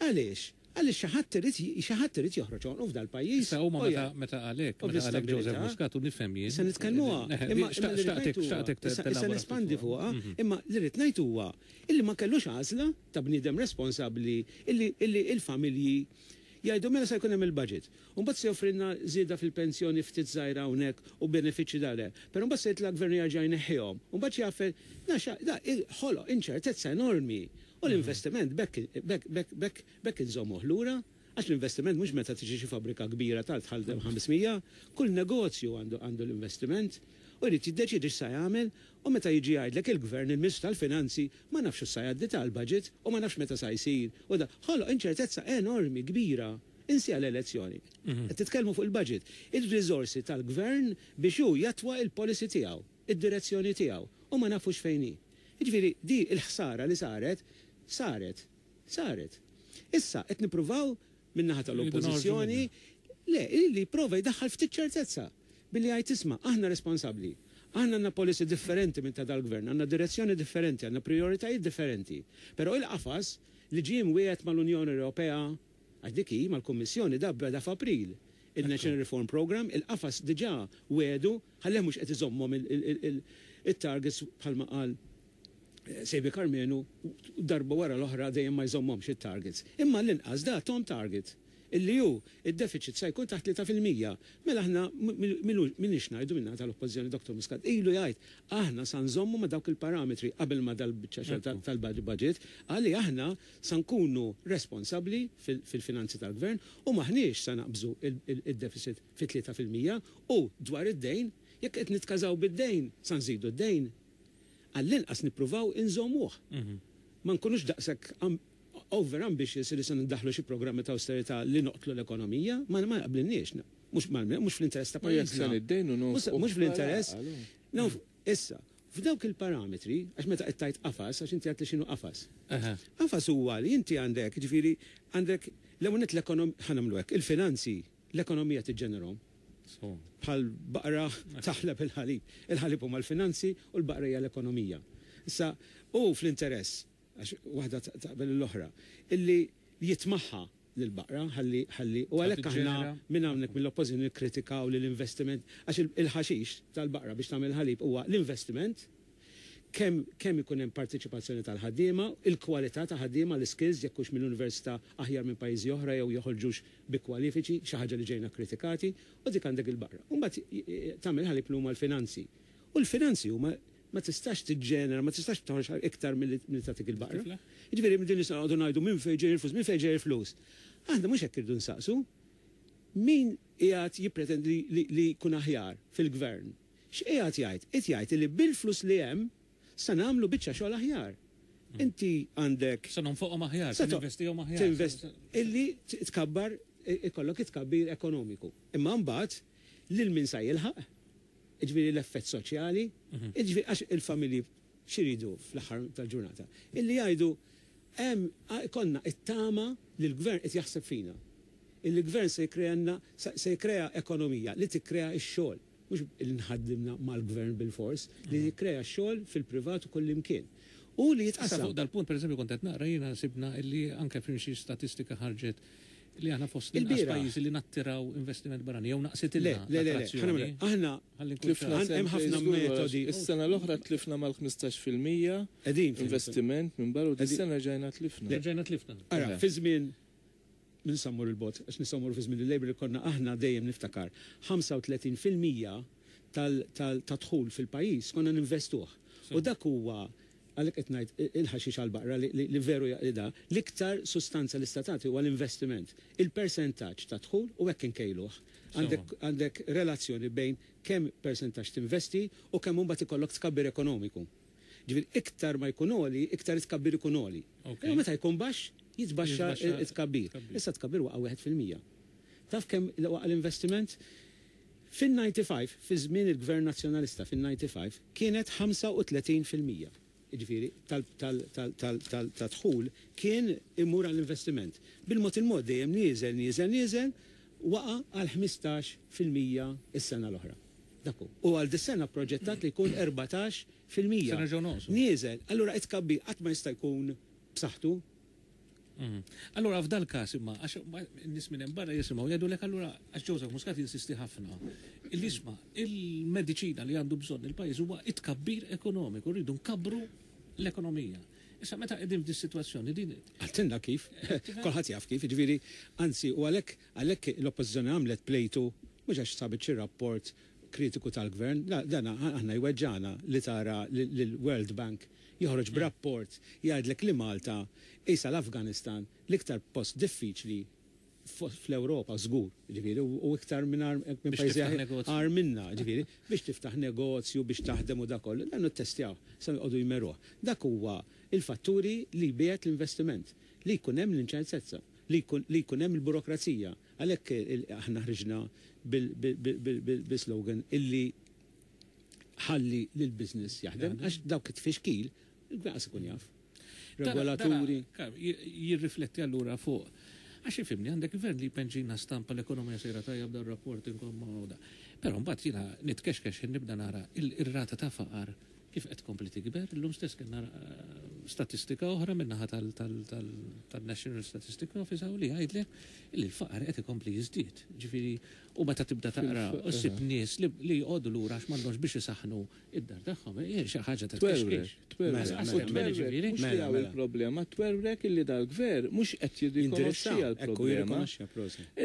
Għaliex? Għaliex xi ħadd irid xi ħadd irid joħroġ għonqu f'dal-pajjiż. Issa huma meta meta qalek, meta qalek Joseph Muscat u nifhem jien. Issa nitkellmuha. Imma xtaqtek xtaqtek Issa nespandi fuqha, imma li rrid ngħid huwa illi ma kellux għażla ta' bniedem responsabbli illi illi l-familji jgħidu mela se jkun hemm il-budget. U mbagħad se joffrilna żieda fil-pensjoni ftit żgħira hawnhekk u benefiċċji dar hemm. Però mbagħad se jitla' gvern u jerġa' jneħħihom. U mbagħad xi jaf da ħoloq inċertezza enormi. U l-investiment b'hekk b'hekk b'hekk b'hekk b'hekk inżommuh lura. Għax l-investiment mhux meta tiġi xi fabbrika kbira tard tħaddem 500. Kull negozju għandu għandu l-investiment u jrid jiddeċiedi x'sa jagħmel u meta jiġi jgħidlek il-Gvern, il-Ministru tal-Finanzi, ma nafx hux sa jgħaddi tal-budget u ma nafx meta sa jsir u da ħoloq inċertezza enormi kbira. Insiha l-elezzjoni. Qed titkellmu fuq il-budget. Ir-riżorsi tal-Gvern biex hu jattwa il-policy tiegħu, id-direzzjoni tiegħu, u ma nafux fejn hi. Jiġifieri di l-ħsara li saret, saret. Saret. Issa qed nippruvaw min-naħa tal-Oppożizzjoni, le, li jipprova jdaħħal ftit ċertezza billi jgħid isma' aħna responsabbli. Aħna għandna policy differenti minn ta' dal-Gvern, għandna direzzjoni differenti, għandna prijoritajiet differenti. Però il-qafas li ġie mwiegħed mal-Unjoni Ewropea, Għax dik hi, mal-Kummissjoni, da beda f'April. Il-National Reform Programme, il-qafas diġà wiegħdu, ħallih mhux qed iżommhom it-targets bħalma qal Saviour Karmenu, darba wara l-oħra dejjem ma jżommhomx it-targets. Imma għall-inqas da tahom target. Illi hu, id-deficit sa jkun taħt 3%. Mela aħna m'iniex ngħidu min-naħa tal-Oppożizzjoni Dottor Muscat ilu jgħid aħna sa nżommu ma' dawk il-parametri qabel ma dal-biċċa xogħol tal-budget, qal li aħna Sa nkunu responsabbli fil-finanzi tal-Gvern u m'aħniex sa naqbżu d-deficit fi 3% u dwar id-dejn, jekk qed nitkażaw bid-dejn sa nżidu d-dejn. Għall-inqas nippruvaw inżommuh. Ma nkunux daqshekk over ambitious li se ndaħħlu xi programmi ta' awsterità li noqtlu l-ekonomija, ma jaqblilniex. Mhux fl-interess ta' pajjiżna. U jekk se niddejnu nonfqu. Mhux fl-interess. Issa, F'dawk il-parametri, għax meta qed tgħid qafas, għax inti għedtli x'inhu qafas. Qafas huwa li inti għandek, jiġifieri għandek l-ewwel nett l-ekonom, ħa nagħmlu hekk, il-finanzi, l-ekonomija tiġġenerhom. Bħal baqra taħleb il-ħalib. Il-ħalib huma l-finanzi u l-baqra hija l-ekonomija. Issa, hu fl-interess, għax waħda taqbel l-oħra, illi jitmaħħa lill-baqra ħalli ħalli u għalhekk aħna minn hawnhekk mill-Oppożizzjoni nikkritikaw li l-investiment għax il-ħaxix tal-baqra biex tagħmel ħalib huwa l-investiment kemm kemm ikun hemm parteċipazzjoni tal-ħaddiema, il-kwalità ta' ħaddiema, l-iskills jekk hux mill-università aħjar minn pajjiżi oħra jew joħorġux bi kwalifiċi, xi ħaġa li ġejna kkritikati, u dik għandek il-baqra. U mbagħad tagħmel ħalib li huma l-finanzi. U l-finanzi huma ma tistax tiġġenera, ma tistax toħroġ iktar milli tagħtik il-baqra. Jiġifieri din nistgħu noqogħdu ngħidu minn fejn ġej il-flus, minn fejn ġej il-flus. Aħna mhux hekk irridu nsaqsu. Min qiegħed jippretendi li jkun aħjar fil-gvern? X'qiegħed jgħid? Qiegħed jgħid li bil-flus li hemm se nagħmlu biċċa xogħol aħjar. Inti għandek. Se nonfoqhom aħjar, se ninvestihom aħjar. Illi tkabbar, ikollok it-tkabbir ekonomiku. Imma mbagħad lil min sa jilħaq? Jiġifieri l-effett soċjali, jiġifieri għax il-familji x'iridu fl-aħħar tal-ġurnata? Illi jgħidu hemm ikollna t-tama li l-gvern qed jaħseb fina. Illi l-gvern se jikkrealna se jikkrea ekonomija li tikkrea x-xogħol. Mhux li nħaddimna mal-gvern bilfors, li jikkrea x-xogħol fil-privat u kullimkien. U li Issa jitqassam. fuq dal-punt pereżempju kont qed naqra jiena sibna illi anke f'xi statistika ħarġet Li aħna fost l-inqas Il-bieraħ. pajjiżi li nattiraw investiment barrani jew Le, naqsitilna le, le, le, ħa l-attrazzjoni. nagħmel hekk. Aħna Ħalli nkun Tlifna ċar. hemm sentejn ħafna żgur għax metodi. is-sena l-oħra tlifna mal-15% Qegħdin fil- investiment minn barra u Qegħdin. dis-sena rġajna tlifna. Rġajna tlifna. Ara, Eħe. fi żmien min sa mmur il-bogħod, għax nistgħu mmorru fi żmien il-Labour li konna aħna dejjem niftakar 35% tal tal tad-dħul fil-pajjiż konna ninvestuh. U dak huwa Għalhekk qed ngħid il-ħaxix għall-baqra li veru da, l-iktar sustanza li sta tagħti huwa l-investiment. Il-persentaġġ ta' dħul u hekk inkejluh. Għandek għandek relazzjoni bejn kemm persentaġġ tinvesti u kemm imbagħad ikollok tkabbir ekonomiku. Ġifieri iktar ma jkun għoli, iktar it-tkabbir ikun għoli. Imma meta jkun baxx, jitbaxxa t-tkabbir. Issa t-tkabbir waqa' 1%. Taf kemm waqa' l-investiment? Fin-95, fi żmien il-Gvern Nazzjonalista fin-95, kienet 35%, jiġifieri tad-dħul kien imur għall-investiment. Bil-mod il-mod dejjem nieżel, nieżel, nieżel, waqa' għal 15% s-sena l-oħra. Dak hu. U għal dis-sena pproġettat li jkun 14%. Se nerġgħu nonqsu. Nieżel. Allura it-tkabbir qatt ma jista' jkun b'saħħtu. Allura f'dal każ imma għax n-nies minn hemm barra jisimgħu jgħidulek allura għax Joseph Muscat jinsisti ħafna. Illi isma' il-mediċina li għandu bżonn il-pajjiż huwa it-tkabbir ekonomiku, rridu nkabbru l-ekonomija. Issa meta qegħdin f'dis sitwazzjoni din. Qaltilna kif, kulħadd jaf kif, jiġifieri anzi u għalhekk għalhekk l-Oppożizzjoni għamlet plejtu mhux għax sabet xi rapport kritiku tal-Gvern, la dan aħna jweġġagħna li tara lill-World Bank joħroġ b'rapport jgħidlek li Malta qisha l-Afganistan, l-iktar post diffiċli fl-Ewropa żgur, jiġifieri, u iktar minn minn pajjiżi agħar minna, jiġifieri, biex tiftaħ negozju, biex taħdem u dak kollu, dan ittestjawh, sa joqogħdu jmeruh. Dak huwa l-fatturi li jbiegħed l-investiment, li jkun hemm l-inċertezza, li jkun li jkun hemm il-burokrazija. Għalhekk aħna ħriġna bil-slogan illi ħalli lill-business jaħdem, għax dawk it-tfixkil, il-gvern qas ikun jaf. Regolaturi. Jirrifletti allura fuq għax ifhimni għandek gvern li jpenġina stampa l-ekonomija sejra tajjeb dan rapport inkomma u da. Però mbagħad jiena nitkexkex ħin nibda nara ir-rata ta' faqar kif qed tkompli tikber. Illum stess kellna statistika oħra min-naħa tal-National Statistics Office hawn li jgħidlek li l-faqar qed ikompli jiżdied. Ġifieri u meta tibda taqra u ssib nies li jqogħdu lura għax m'għandhomx biex isaħħnu id-dar tagħhom, hija xi ħaġa ta' tkexkix. Twerwrek, twerwrek. Mhux li hawn il-problema, twerwrek illi dal-gvern mhux qed jirrikonoxxiha l-problema.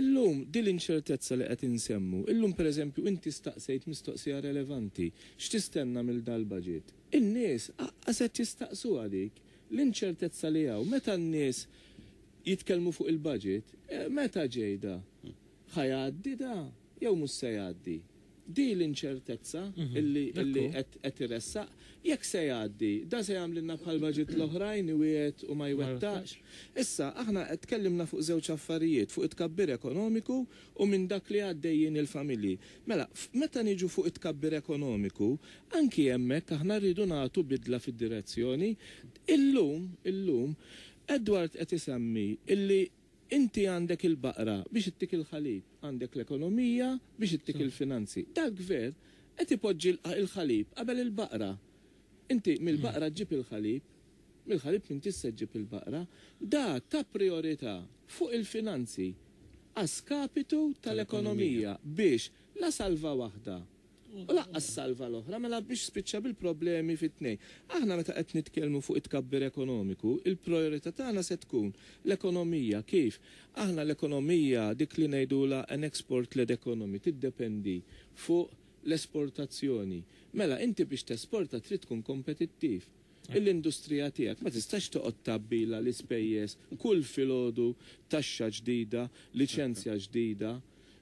Illum din l-inċertezza li qed insemmu, illum pereżempju inti staqsejt mistoqsija relevanti, x'tistenna mill dal-budget? In-nies aqqas qed jistaqsuha dik. L-inċertezza li hawn, meta n-nies jitkellmu fuq il-budget, meta ġej da? Ħa jgħaddi da jew mhux se jgħaddi? Di l-inċertezza illi illi qed qed iressaq. Jekk se jgħaddi, da se jagħmlilna bħal budget l-oħrajn iwiegħed u ma jwettaqx? Issa, aħna tkellimna fuq żewġ affarijiet, fuq it-tkabbir ekonomiku u minn dak li għaddejjin il-familji. Mela, meta niġu fuq it-tkabbir ekonomiku, anki hemmhekk aħna rridu nagħtu bidla fid-direzzjoni. Illum, illum, Edward qed isemmi illi Inti għandek il-baqra biex ittik il-ħalib, għandek l-ekonomija biex ittik il-finanzi. Dal-gvern qed ipoġġi l-ħalib qabel il-baqra. Inti mill-baqra ġġib il-ħalib, mill-ħalib m'intix se ġġib il-baqra. Da ta prijorità fuq il-finanzi a skapitu tal-ekonomija biex la salva waħda U lanqas salva l-oħra, mela biex spiċċa bil-problemi fit-tnejn. Aħna meta qed nitkellmu fuq it-tkabbir ekonomiku, il-prijorità tagħna se tkun l-ekonomija. Kif? Aħna l-ekonomija, dik li ngħidulha an export-led economy, tiddependi fuq l-esportazzjoni. Mela inti biex tesporta trid tkun kompetittiv. L-industrija tiegħek ma tistax toqgħod tgħabbilha l-ispejjeż kull filgħodu, taxxa ġdida, liċenzja ġdida,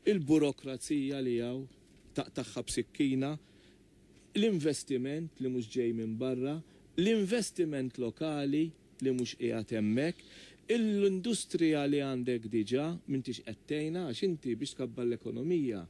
il-burokrazija li hawn. Taqtagħha b'sikkina, l-investiment li mhux ġej minn barra, l-investiment lokali li mhux qiegħed hemmhekk, l-industrija li għandek diġà m'intix qed tgħinha għax inti biex tkabbar l-ekonomija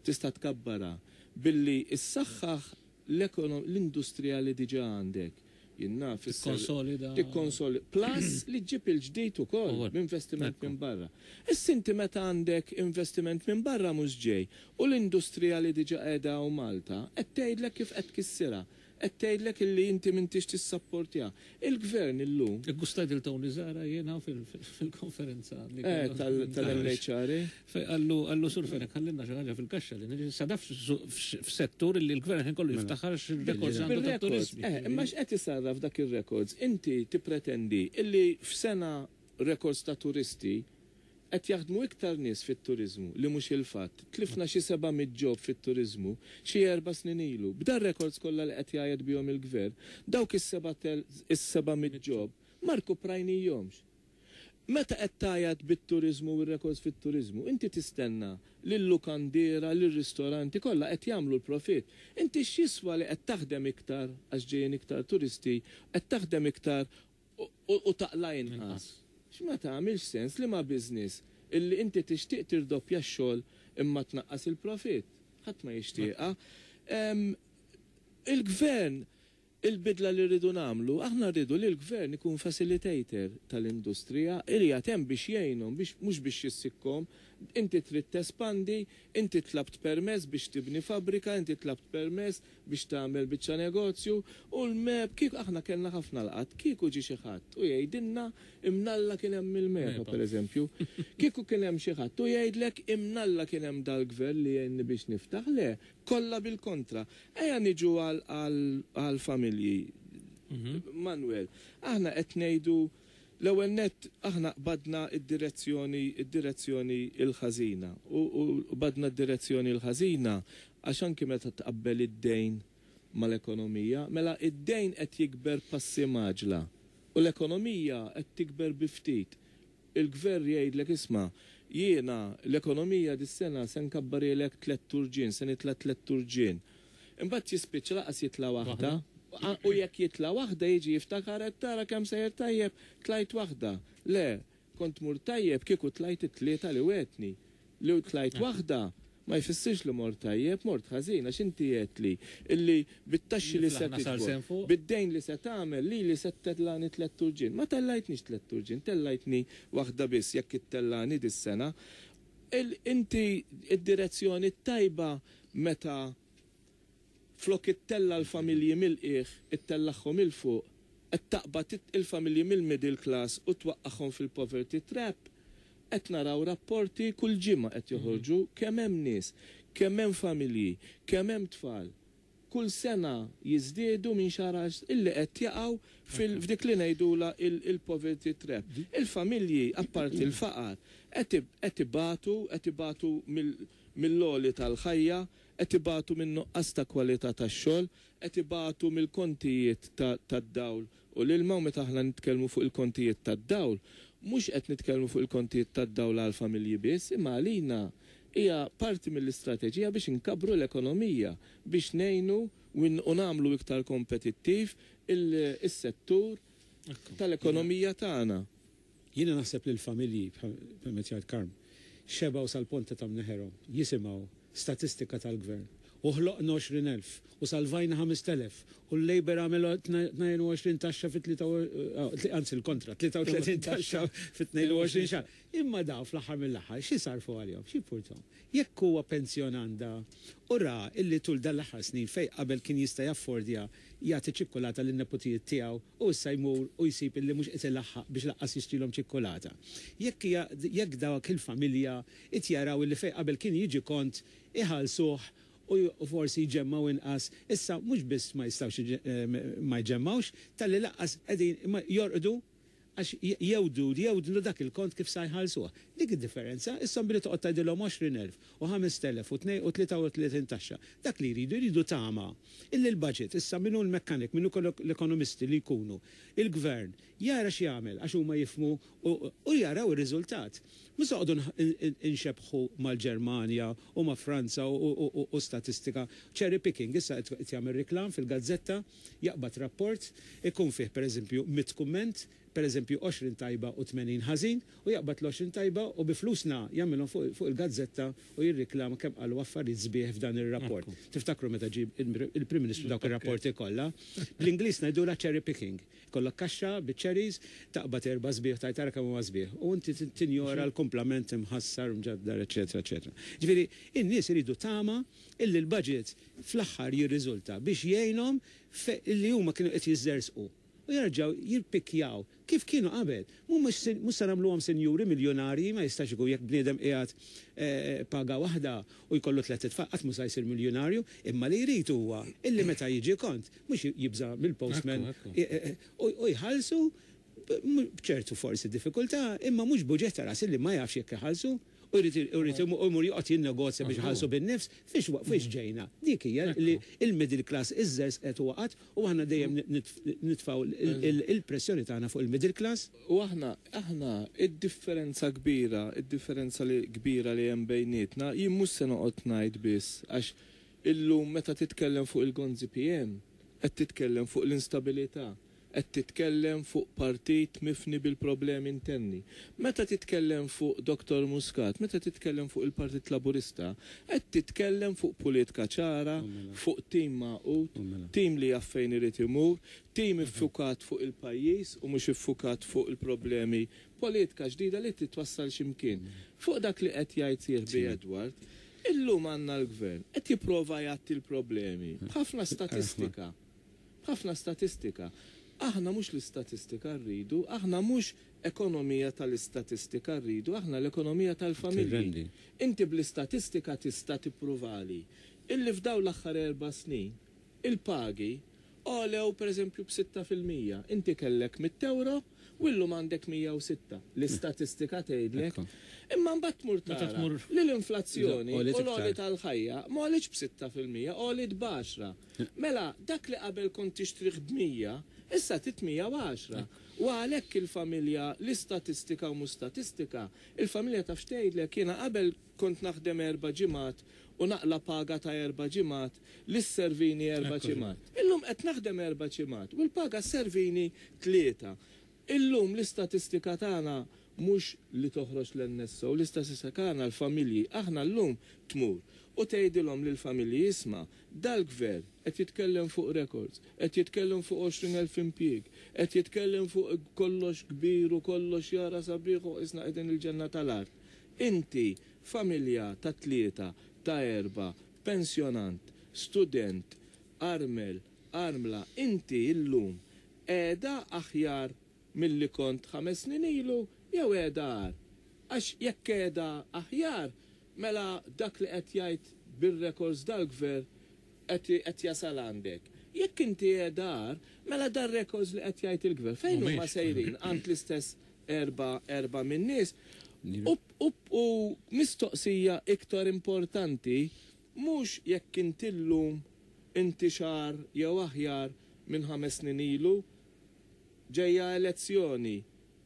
tista' tkabbarha billi ssaħħaħ l-industrija li diġà għandek. Jien naf. Tikkonsolida. Tikkonsolida. Plus li ġġib il-ġdid ukoll b'investiment minn barra. Issa inti meta għandek investiment minn barra mhux ġej u l-industrija li diġà qiegħda hawn Malta qed tgħidlek kif qed tkissirha. Qed tgħidlek illi inti m'intix tissapportjaha. Il-Gvern illum. Iggustajt lil Tony Zahra jiena fil-konferenza li kellna. Tal-MHRA. Fejn qallu qallu Sur Fenech ħallinna xi ħaġa fil-kaxxa li niġi sa daf f'settur li l-gvern ħin kollu jiftaħar x'rekords għandu ta' turiżmi. Eh, imma x'qed isarraf dak ir-rekords? Inti tippretendi illi f'sena rekords ta' turisti qed jaħdmu iktar nies fit-turiżmu, li mhux il-fatt. Tlifna xi 700 job fit-turiżmu xi erba' snin ilu. B'dar-rekords kollha li qed jgħajjat bihom il-gvern, dawk is-700 job ma rkuprajnihomx. Meta qed tgħajjat bit-turiżmu u r-rekords fit-turiżmu, inti tistenna li l-lukandiera, li r-ristoranti kollha qed jagħmlu l-profitt. Inti x'jiswa li qed taħdem iktar għax ġejjin iktar turisti, qed taħdem iktar u taqla' inqas? X'ma tagħmilx sens liema business illi inti tixtieq tirdoppja x-xogħol imma tnaqqas il-profitt. Ħadd ma jixtieqha. Il-Gvern Il-bidla li rridu nagħmlu, aħna rridu li l-Gvern ikun facilitator tal-industrija, qiegħed hemm biex jgħinhom, biex mhux biex jissikkhom. Inti trid tespandi, inti tlabt permess biex tibni fabbrika, inti tlabt permess biex tagħmel biċċa negozju u l-MEPA, kieku aħna kellna ħafna laqgħat, kieku ġie xi ħadd u jgħidilna imnalla kien hemm il-MEPA, pereżempju. Kieku kien hemm xi ħadd u jgħidlek imnalla kien hemm dal-gvern li jgħinni biex niftaħ, le, kollha bil-kontra. Ejja niġu għal-familji. Manuel, aħna qed ngħidu, l-ewwel net, aħna qbadna id-direzzjoni il-ħażina. U qbadna d-direzzjoni l-ħażina għax anki meta tqabbel id-dejn mal-ekonomija, mela id-dejn qed jikber passi mgħaġġla u l-ekonomija qed tikber bi ftit. Il-gvern jgħidlek, "Isma', jiena l-ekonomija dis-sena se nkabbarilek 3 turġien, se nitla' 3 turġien." Imbagħad jispiċċa lanqas jitla' waħda. U jekk jitla' waħda jiġi jiftakar qed tara kemm sejjer tajjeb, tlajt waħda. Le, kont mur tajjeb kieku tlajt it-tlieta li wegħedtni. Li tlajt waħda ma jfissirx li mort tajjeb, mort ħażin, għax inti għedtli illi bit-taxxi li se Niflaħna sar tiġbor, sen fuq. bid-dejn li se tagħmel li li se ttellani 3 turġien. Ma tellajtnix 3 turġien, tellajtni waħda biss jekk ittellani dis-sena. Inti id-direzzjoni tajba meta flok ittella l-familji mill-qiegħ, ittellagħhom 'il fuq, qed taqbad il-familji mill-middle class u twaqqagħhom fil-poverty trap. Qed naraw rapporti kull ġimgħa qed joħorġu kemm hemm nies, kemm hemm familji, kemm hemm tfal. Kull sena jiżdiedu minn xahar illi qed jaqgħu f'dik li ngħidula il-poverty trap. Il-familji, apparti il-faqar, qed ibatu mill-għoli tal-ħajja, qed ibatu minn nuqqas ta' kwalità tax-xogħol, qed ibatu mill-kontijiet tad-dawl u l-ilma. U meta aħna nitkellmu fuq il-kontijiet tad-dawl, mhux qed nitkellmu fuq il-kontijiet tad-dawl għal familji biss, imma għalina hija parti mill-istrateġija biex inkabru l-ekonomija, biex ngħinu u nagħmlu iktar kompetittiv il-settur tal-ekonomija tagħna. Jiena naħseb li l-familji, bħal jgħid Karm, xebgħu sal-ponta ta' mneħerhom jisimgħu statistika tal-gvern. U ħloqna 20,000 u salvajna 5,000 u l-Labour għamel 22 taxxa fi 3, anzi l-kontra, 33 taxxa fi 22 xahar. Imma daw fl-aħħar mill-aħħar xi sarfu għalihom, xi jimpurtahom? Jekk huwa pensjonanda u ra illi tul dan l-aħħar snin fej qabel kien jista' jaffordja jagħti ċikkulata lin-neputijiet tiegħu u issa jmur u jsib illi mhux qed ilaħħaq biex lanqas jixtrilhom ċikkulata. Jekk dawk il-familja qed jaraw illi fej qabel kien jiġi kont iħallsuh u forsi jġemmaw inqas, issa mhux biss ma jistgħux ma jġemmawx, talli lanqas qegħdin ma jorqdu għax jewdu dak il-kont kif sa jħallsuh. Dik id-differenza, issa billi toqgħod tgħidilhom 20,000 u 5,000 u 33 taxxa. Dak li jridu, jridu tama illi l-budget, issa minnu l-mekkanik, minnu l-ekonomisti li jkunu, il-gvern, jara x'jagħmel għax huma jifhmu u jaraw ir-riżultat. Mhux noqogħdu inxebħu mal-Ġermanja u ma' Franza u statistika. Cherry picking, issa qed jagħmel reklam fil-gazzetta, jaqbad rapport, ikun fih pereżempju 100 kumment, pereżempju 20 tajba u 80 ħażin, u jaqbad l-20 tajba u bi flusna jagħmilhom fuq il-gazzetta u jirriklama kemm qalu affarijiet sbieħ f'dan ir-rapport. Tiftakru meta ġib il-Prim Ministru dawk ir-rapporti kollha? Bl-Ingliż ngħidulha cherry picking. Kollok kaxxa biċ-cherries, taqbad erba' sbieħ tajt tara kemm huma sbieħ. U inti tinjora l-kumplament imħassar, mġaddar, eċetera, eċetera. Ġifieri, in-nies iridu tama illi l-budget fl-aħħar jirriżulta biex jgħinhom illi huma kienu qed jiżżersqu u jerġgħu jirpikjaw kif kienu qabel. Mhux se nagħmluhom sinjuri miljonarji, ma jistax ikun jekk bniedem qiegħed paga waħda u jkollu tliet itfal qatt mhux se jsir miljonarju, imma li jrid huwa illi meta jiġi kont mhux jibża' mill-postman u jħallsu b'ċertu forsi diffikultà, imma mhux buġġett ta' ras illi ma jafx jekk iħallsu u jrid imur joqgħod jinnegozja biex iħallsu bin-nifs, fiex ġejna. Dik hija li il-middle class iżżerżqet u waqgħet u aħna dejjem nitfgħu il-pressjoni tagħna fuq il-middle class. U aħna, id-differenza li kbira li hemm bejnietna, jien mhux se noqgħod ngħid biss, għax illum meta titkellem fuq il-Gonzi PM, qed titkellem fuq l-instabilità. Qed titkellem fuq partit mifni bil-problemi interni. Meta titkellem fuq Dottor Muscat, meta titkellem fuq il-Partit Laburista, qed titkellem fuq politika ċara, fuq tim magħqud, tim li jaf fejn irid imur, tim iffukat fuq il-pajjiż u mhux iffukat fuq il-problemi, politika ġdida li trid twassal xi mkien. Fuq dak li qed jgħid sieħbi Edward, illum għandna l-Gvern qed jipprova jgħatti l-problemi b'ħafna statistika. B'ħafna statistika. Aħna mhux l-istatistika rridu, aħna mhux ekonomija tal-istatistika rridu, aħna l-ekonomija tal-familji. Inti bl-istatistika tista' tippruvali illi f'dawn l-aħħar erba' snin il-pagi għolew pereżempju b'6%. Inti kellek mitt ewro u llum għandek 106. L-istatistika tgħidlek. Imma mbagħad tmur tara li l-inflazzjoni u l-għoli tal-ħajja ma għolitx b'6%, għoliet b'10. Mela, dak li qabel kont tixtrih b'100, issa trid 110. U għalhekk il-familja, l-istatistika u mhux statistika, il-familja taf x'tgħidlek, jiena qabel kont naħdem erba' ġimgħat u naqla' paga ta' erba' ġimgħat li sservini erba' ġimgħat. Illum qed naħdem erba' ġimgħat u l-paga sservini tlieta. Illum l-istatistika tagħna mhux li toħroġ l-NSO, l-istatistika tagħna l-familji, aħna llum tmur u tgħidilhom lill-familji isma' dal-gvern qed jitkellem fuq records, qed jitkellem fuq 20,000 impjieg, qed jitkellem fuq kollox kbir u kollox jara sabiħ u qisna qegħdin il-ġenna tal-art. Inti familja ta' tlieta, ta' erba', pensjonant, student, armel, armla, inti llum qiegħda aħjar milli kont ħames snin ilu jew qiegħda agħar? Għax jekk qiegħda aħjar, mela dak li qed jgħid bir-records dal-gvern qed qed jasal għandek. Jekk inti qiegħda agħar, mela dar-records li qed jgħid il-gvern fejn huma sejrin għand l-istess erba' erba' min-nies? U u u mistoqsija iktar importanti mhux jekk inti llum inti xahar jew aħjar minn ħames snin ilu, ġejja elezzjoni,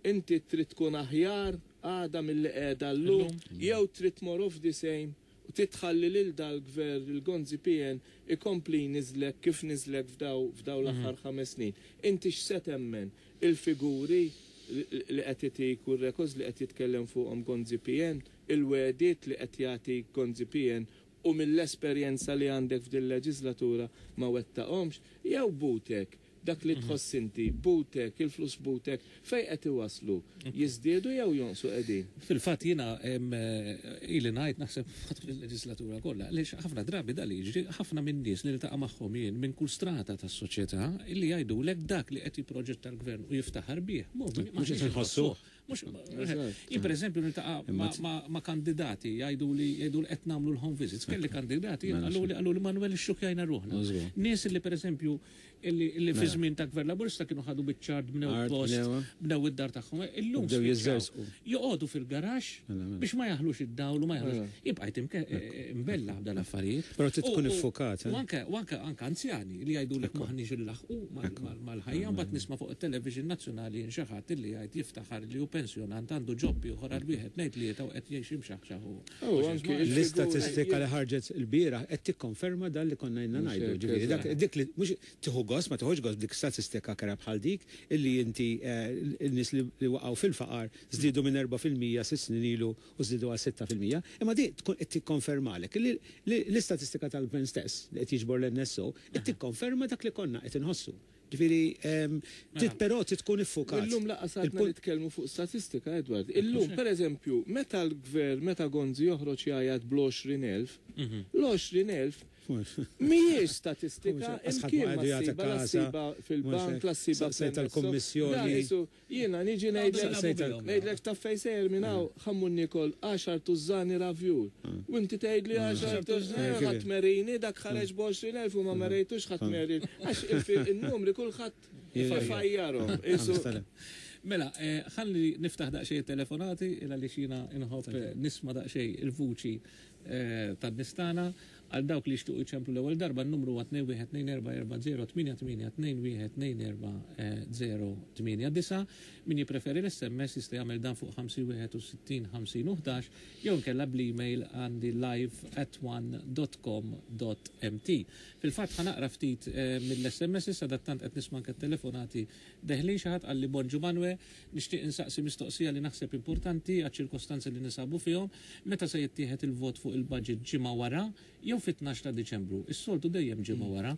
inti trid tkun aħjar għada milli qiegħda llum jew trid more of the same u trid tħalli lil dal-gvern, il-Gonzi PN, ikompli jniżżlek kif niżlek f'daw f'daw l-aħħar ħames snin. Inti x'se temmen? Il-figuri li qed itik u r-records li qed jitkellem fuqhom Gonzi PN, il-wegħdiet li qed jagħtik Gonzi PN u mill-esperjenza li għandek f'dil-leġislatura ma wettaqhomx, jew butek, dak li tħoss inti, butek, il-flus butek, fejn qed iwasslu? Jiżdiedu jew jonqsu qegħdin? Fil-fatt jiena ili ngħid naħseb matul il-leġislatura kollha, għaliex ħafna drabi dan li jiġri, ħafna min-nies li niltaqa' magħhom jien minn kull strata tas-soċjetà illi jgħidulek dak li qed jipproġetta l-gvern u jiftaħar bih, mhux qed inħossuh. Mhux, jien pereżempju niltaqa' ma' kandidati jgħidu li jgħidu li qed nagħmlu l-home visits. Kelli kandidati qalu li qalu li Manuel ixxukkjajna ruħna. Nies li pereżempju illi fi żmien ta' Gvern Laburista kienu ħadu biċċa art, bnew post, bnew id-dar tagħhom. Illum spiċċaw joqogħdu fil-garaxx biex ma jaħlux id-dawl u ma jaħlux. Jien bqajt imbella b'dan l-affarijiet. Però trid tkun iffukat. U anke u anke anke anzjani li jgħidulek m'aħniex inlaħħqu mal-ħajja, mbagħad nisma' fuq it-television nazzjonali jien xi ħadd illi jgħid jiftaħar li hu pensjonant għandu job ieħor għal wieħed tnejn tlieta u qed jgħix imxaħxaħ u L-istatistika li ħarġet ilbieraħ qed tikkonferma dan li konna ilna ngħidu. Ġifieri dak dik li mhux tieħu gost, ma tieħux gost b'dik statistika kerha bħal dik illi inti n-nies li waqgħu fil-faqar żdiedu minn 4% sitt snin ilu u żdiedu għal 6%. Imma di tkun qed tikkonfermalek li l-istatistika tal-gvern stess li qed jiġbor l-NSO qed tikkonferma dak li konna qed inħossu. Ġifieri trid però trid tkun iffukat. Illum lanqas għadna nitkellmu fuq statistika, Edward. Illum, pereżempju, meta l-gvern, meta Gonzi joħroġ jgħajjat bl-20,000, l-20,000 mhijiex statistika, imkien ma ssibha, la ssibha fil-bank, la ssibha fil-kummissjoni. Jiena niġi ngħidlek, ngħidlek taf fejn sejjer minn hawn, ħa mmur niekol għaxar tużżani ravjul. U inti tgħidli għaxar tużżani, ħadd merini, dak ħareġ b'20,000 u ma merejtux ħadd merin. Għax in-numri kulħadd ifajjarhom. Mela, ħalli niftaħ daqsxejn it-telefonati, il għaliex jiena nħobb nisma' daqsxejn il-vuċi tan-nies tagħna. Għal dawk li jixtiequ jċemplu l-ewwel darba n-numru huwa 212440 88 2124 089. Min jippreferi l-SMS jista' jagħmel dan fuq 51 50 u 11 jew inkella bl-email għandi live@one.com.mt. Fil-fatt ħa naqra ftit mill-SMS issa dattant qed nisma' anke telefonati deħlin. Xi ħadd qalli: "Bonġu Manwe, nixtieq insaqsi mistoqsija li naħseb importanti għaċ-ċirkostanzi li ninsabu fihom. Meta se jittieħed il-vot fuq il-budget, ġimgħa wara jew fit-12 ta' Diċembru? Is-soltu dejjem ġimgħa wara.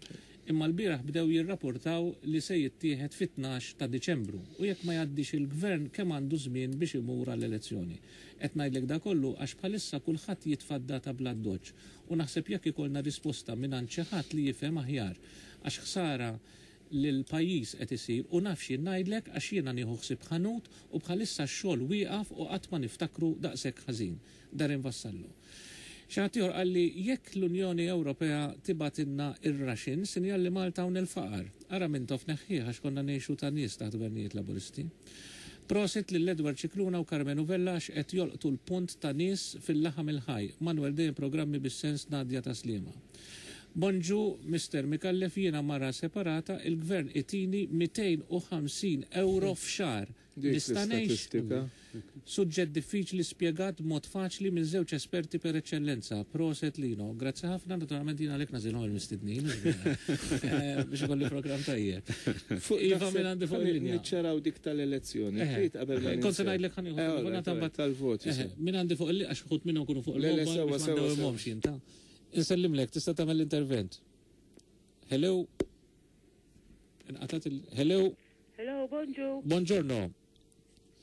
Imma l-bieraħ bdew jirrapportaw li se jittieħed fit-12 ta' Diċembru. U jekk ma jgħaddix il-gvern kemm għandu żmien biex imur għall-elezzjoni? Qed ngħidlek da kollu għax bħalissa kulħadd jitfa' d-data bl-addoċċ u naħseb jekk ikollna risposta mingħand xi ħadd li jifhem aħjar. Għax ħsara lill-pajjiż qed isir u naf x'jien ngħidlek għax jiena nieħu ħsieb ħanut u bħalissa x-xogħol wieqaf u qatt ma niftakru daqshekk ħażin. Darren Vassallo." Xi ħadd ieħor qalli: "Jekk l-Unjoni Ewropea tibgħatilna ir-ration, sinjal li Malta hawn il-faqar. Ara Mintoff neħħih għax konna ngħixu ta' nies taħt gvernijiet Laburisti. Prosit lil Edward Scicluna u Karmenu Vella għax qed jolqtu l-punt ta' nies fil-laħam il-ħaj. Manuel dejjem programmi bis-sens. Nadia ta' Sliema. Bonġu Mister Micallef, jiena mara separata, il-gvern itini 250 euro f'xahar. Dik Nista' ngħix?" l-istatistika. "Suġġett diffiċli spjegat b'mod faċli minn żewġ esperti per eċċellenza. Proset Lino." Grazzi ħafna, naturalment jiena għalhekk nagħżilhom il-mistednin, biex ikolli programm tajjeb. Fuq Iva, minn għandi fuq il-linja. Niċċaraw dik tal-elezzjoni. Trid qabel ma Kont se ninsew. ngħidlek ħa nieħu All telefonata right, mbagħad- tal-voti. Min għandi fuq il għax uħud minnhom kunu fuq Le, le, il-mobile sewa, biex ma sewa, sewa. ndewwimhomx jien ta'. Insellimlek, tista' tagħmel l-intervent. Hello. Inqatat il Hello. Hello, bonġu. Buongiorno.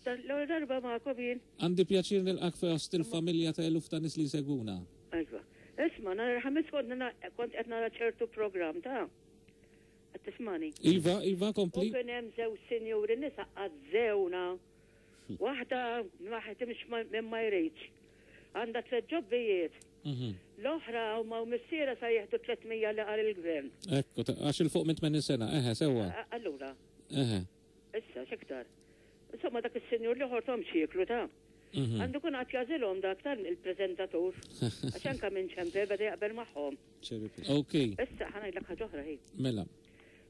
L-ewwel darba magħkom jien. Għandi pjaċir nilqak fost il-familja ta' eluf ta' nies li jsegwuna. Ejwa. Isma', nhar il-Ħamis kont qed nara ċertu programm ta' qed tismani. Iva, Iva, U kompli. kien hemm żewġ sinjuri nisa għażżewna. Waħda ma ħedimx minn ma jridx. Għandha tliet ġobbijiet. L-oħra huma u missiera sa jieħdu 300 li qal il-gvern. Ekku, għax 'il fuq minn 80 sena, eħe, sewa. Allura, issa x'iktar. Insomma dak is-sinjur li ħortom xieklu ta' Għandu kun għat jażilhom dak tal il-preżentatur. Għax anka minn ċempe beda jaqbel magħhom. Ok, Issa ħa ngħidlek ħaġa oħra hi. Mela.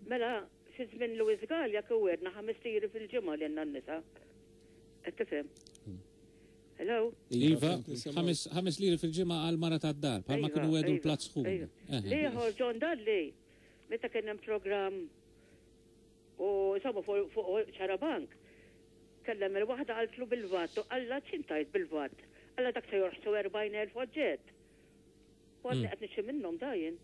Mela, fi żmien Louis Galea kien 5 liri fil-ġimgħa li għandna n-nisa. Qed tifhem? Hello? Iva, 5 liri fil-ġimgħa għal mara tad-dar, bħalma kienu għedu l-platt sħun. Iva. L-ieħor John Dalli, meta kien hemm programm u insomma fuq Xarabank, kellem il-waħda qaltlu bil-VAT, u qalla ċintajt bil-VAT. Qalla dak se jorħsu 40,000 oġġett. U għadni qed nixtri minnhom dajin.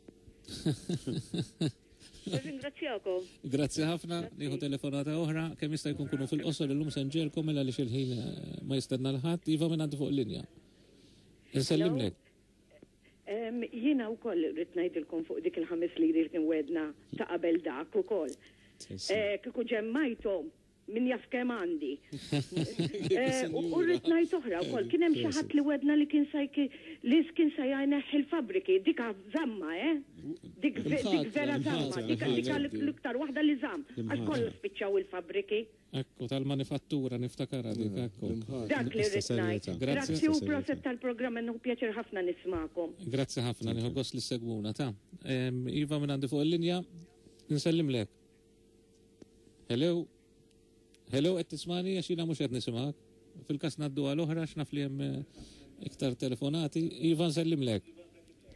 Ringrazzjakom. Grazzi ħafna, nieħu telefonata oħra, kemm jista' jkun kunu fil-qosor illum se nġegħelkom mela li xil-ħin ma jistenna l-ħadd, Iva minn għandi fuq il-linja. Insellimlek. Jiena wkoll rrid ngħidilkom fuq dik il-5 liri li kien wedna ta' qabel dak ukoll. Kieku ġemmajthom min jaf kemm għandi. U rrid ngħid oħra wkoll, kien hemm xi ħadd li wedna li kien se jneħħi il-fabriki, dika żamma, eh? Dik vera żamma, dika l-iktar waħda li żamm, għax kollu spiċċaw il-fabriki. Ekku, tal-manifattura niftakara dik, ekku. Dak li rrid ngħid. Grazzi. Grazzi u proset tal-programm, nieħu pjaċir ħafna nismakom. Grazzi ħafna, nieħu gost li segwuna ta'. Iva minn għandi fuq il-linja, nsellimlek. Hello. Hello, qed tismani għax jiena mhux qed nisimgħek. Fil-każ ngħaddu għal oħra x'naf li hemm iktar telefonati. Iva, nsellimlek.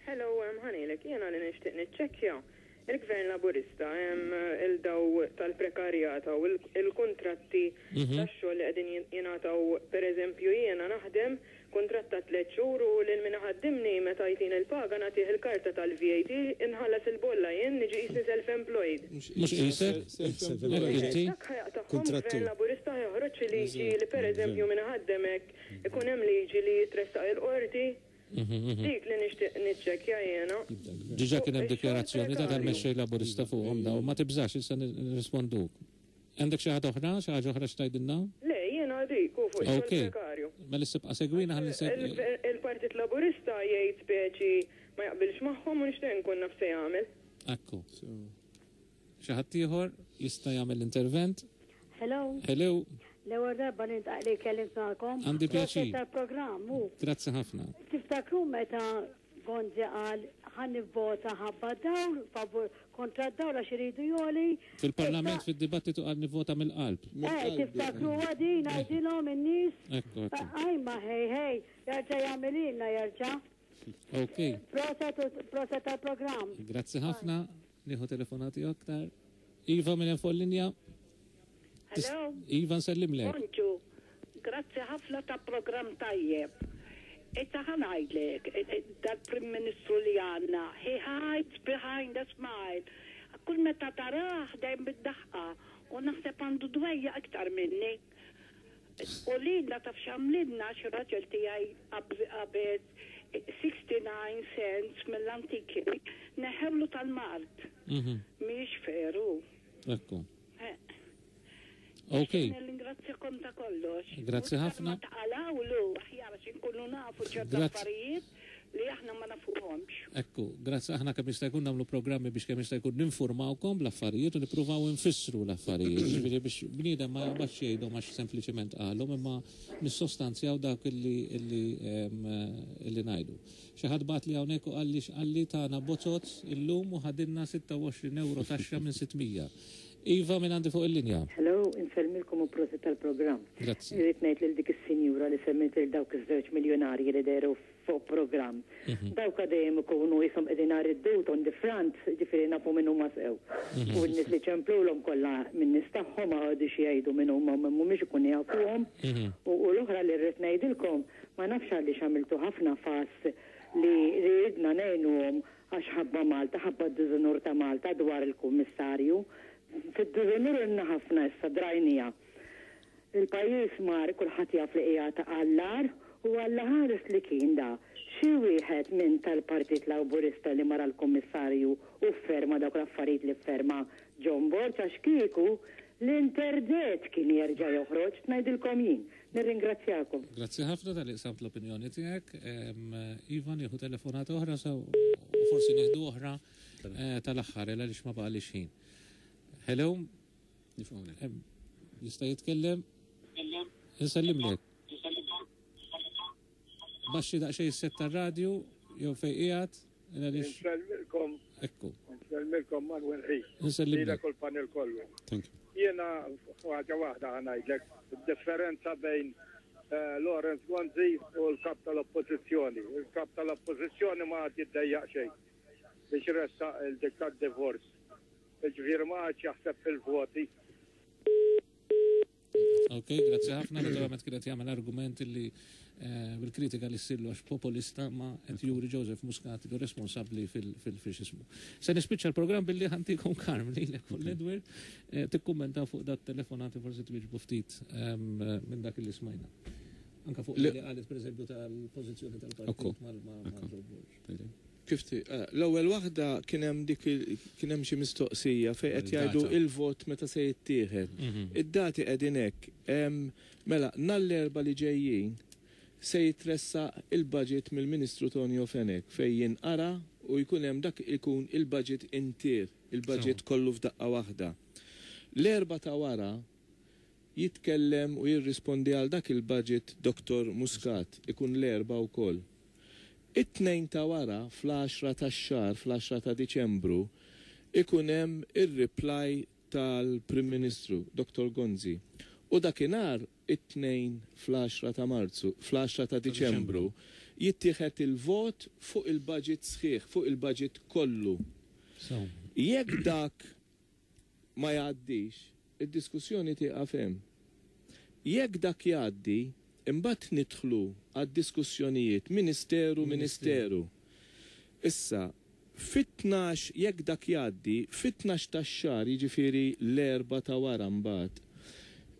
Hello, ħanilek, jena li nixtieq niċċekkja. Il-Gvern Laburista hemm il-daw tal-prekarjata u il-kontratti tax-xogħol li qegħdin jingħataw, pereżempju jiena naħdem kuntratt ta' 3 xhur u lil min ħaddimni meta jtin il-paga nagħtih il-karta tal-VAT, inħallas il-bolla, jien niġi qisni self-employed. Mhux qisek? Inti? Dak ħa jaqtagħhom Gvern Laburista, joħroġ liġi li pereżempju min ħaddemek ikun hemm liġi li jitressaq il-qorti? Dik li nixtieq niċċekkja jiena. Diġà kien hemm dikjarazzjoni ta' tal-mexxej Laburista fuqhom daw, ma tibżax, issa nirrisponduk. Għandek xi ħaġa oħra, xi ħaġa oħra x'tgħidilna? Le, jiena dik u fuq ix-xogħol prekarju. Mela issibqa' segwina ħalli Il-Partit Laburista jgħid speċi ma jaqbilx magħhom u nixtieq nkun naf se jagħmel. Ekku. Xi ħadd ieħor jista' jagħmel intervent? Hello. Hello. L-ewwel darba nintaq li kellimt magħkom. Għandi pjaċir. Proset tal-programm u Grazzi ħafna. tiftakru meta Gonzi qal ħa nivvota ħabba d-dawl, favur kontra d-dawl għax iridu jogħli. Fil-Parlament fid-dibattitu qal nivvota mill-qalb. Eh, tiftakruha din ngħidilhom in-nies? Ekku, ekku. Ajma ħej ħej, jerġa' jagħmililna jerġa'. Ok. Proset u proset tal-programm. Grazzi ħafna. Nieħu telefonati aktar. Iva minn hemm fuq il-linja. Hello. Iva nsellimlek. Bonġu. Grazzi ħafna ta' programm tajjeb. Issa ħa ngħidlek, dal-Prim Ministru li għandna, he hides behind a smile. Kull meta tarah dejjem bid-daħqa u naħseb għandu dwejjaq iktar minni. U lilna taf x'għamlilna għax ir-raġel tiegħi qabeż 69 cents mill-antiki, neħħewlu tal-mard. Mhijiex fair hu. Ekku. Ok. Nirringrazzjakom ta' kollox. Grazzi ħafna. Ma taqalawlu aħjar għax inkunu nafu ċerta affarijiet li aħna ma nafuhomx. Ekku, grazzi aħna kemm jista' jkun nagħmlu programmi biex kemm jista' jkun ninfurmawkom bl-affarijiet u nippruvaw infissru l-affarijiet. Ġifieri biex bniedem ma jaqbadx jgħidhom għax sempliċement qalhom imma nissostanzjaw dak illi illi illi ngħidu. Xi ħadd bagħatli hawnhekk u qalli x'qalli tana bozoz illum u ħadilna 26 ewro taxxa minn 600. Iva min għandi fuq il-linja? Hello, insellmilkom u prosit tal-programm. Grazzi. Irrid ngħid lil dik is-sinjura li semmiet lil dawk iż-żewġ miljunarji li dehru fuq programm. Dawk dejjem ikunu qishom qegħdin nhar id-dut on the front, jiġifieri nafu min huma sew. U n-nies li ċemplulhom kollha min-nies tagħhom ma jqogħdux jgħidu min huma u min mhumiex ikunu jafuhom. U l-oħra li rrid ngħidilkom, ma nafx għaliex għamiltu ħafna fass li ridna ngħinuhom Għax ħabba Malta, ħabba d-diżunur ta' Malta dwar il-Kummissarju. Fid-diżunur ilna ħafna issa, drajniha. Il-pajjiż mar, kulħadd jaf li qiegħed għall-agħar u Alla ħares li kien da xi wieħed minn tal-Partit Lawburista li mar għall-Kummissarju u fferma dawk l-affarijiet li fferma John Borg għax kieku l-interdett kien jerġa' joħroġ, ngħidilkom jien. Nirringrazzjakom. Grazzi ħafna talli qsamt l-opinjoni tiegħek. Iva, nieħu telefonata oħra sa u forsi nieħdu oħra eh, tal-aħħar għaliex ma baqalix ħin. Hello? Jista' jitkellem? Insellimlek. Baxxi daqsxejn is-set tar-radju jew fejn qiegħed għaliex. Insellmilkom. Ekku. Insellmilkom Manuel Ħi. Insellimlek. Lilek u l-panel kollu. Thank you. Jiena ħaġa waħda ħa ngħidlek, id-differenza bejn eh, Lawrence Gonzi u l-kap tal-Oppożizzjoni. Il-kap tal-Oppożizzjoni ma għad jiddejjaq xejn biex ressaq il-dik tad-divorce. Ġifieri ma għadx jaħseb fil-voti. Ok, grazzi ħafna. Naturalment kienet jagħmel argument li eh, bil-kritika li ssillu għax populista ma qed juri Joseph Muscat li responsabbli fil-fixismu. Se nispiċċa l-programm billi ħantikom Karm lilek u l-Edward eh, tikkummenta fuq dat telefonati forsi twieġbu ftit ehm, minn dak li smajna. Anka fuq li qalet pereżempju tal-pożizzjoni tal-partit mal-Borg. Kif ti, eh, l-ewwel waħda kien hemm dik kien hemm xi mistoqsija fejn qed jgħidu il-vot meta se jittieħed. Mhm. Id-dati qegħdin hekk. Mela, nhar l-Erbgħa li ġejjin se jitressaq il-budget mill-Ministru Tonio Fenech fejn jinqara u jkun hemm dak ikun il-budget intier, il-budget kollu f'daqqa waħda. L-Erbgħa ta' wara jitkellem u jirrispondi għal dak il-budget Dottor Muscat, ikun l-Erbgħa wkoll. It-Tnejn ta' wara, fl-għaxra tax-xahar, fl-għaxra ta' Diċembru, ikun hemm ir-reply tal-Prim Ministru, Dottor Gonzi. U dakinhar, it-Tnejn fl-għaxra ta' Marzu, fl-għaxra ta' Diċembru, jittieħed il-vot fuq il-budget sħiħ, fuq il-budget kollu. Jekk dak ma jgħaddix, id-diskussjoni tieqaf hemm. Jekk dak jgħaddi, imbagħad nidħlu għad-diskussjonijiet ministeru ministeru. Issa, fit-tnax, jekk dak jgħaddi, fit-tnax tax-xahar, jiġifieri l-Erbgħa ta' wara mbagħad,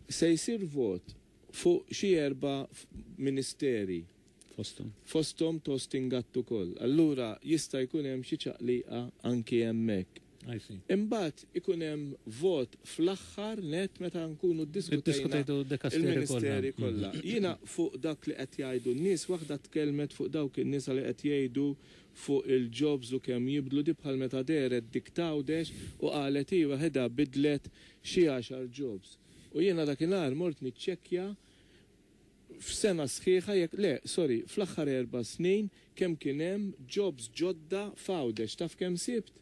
se jsir vot fuq xi erba' ministeri. Fosthom. Fosthom Tostin Gatt ukoll. Allura jista' jkun hemm xi ċaqliqa anki hemmhekk. I see. Imbagħad ikun hemm vot fl-aħħar nett meta nkunu ddiskutejna il-ministeri kollha. Jiena fuq dak li qed jgħidu n-nies, waħda tkellmet fuq dawk in-nisa li qed jgħidu fuq il-jobs u kemm jibdlu, di bħal meta dehret dik t'Għawdex u qalet hi waħedha bidlet xi għaxar jobs. U jiena dakinhar mort niċċekkja. F'sena sħiħa jekk le, sorry, fl-aħħar erba' snin kemm kien hemm jobs ġodda f'Għawdex, taf kemm sibt?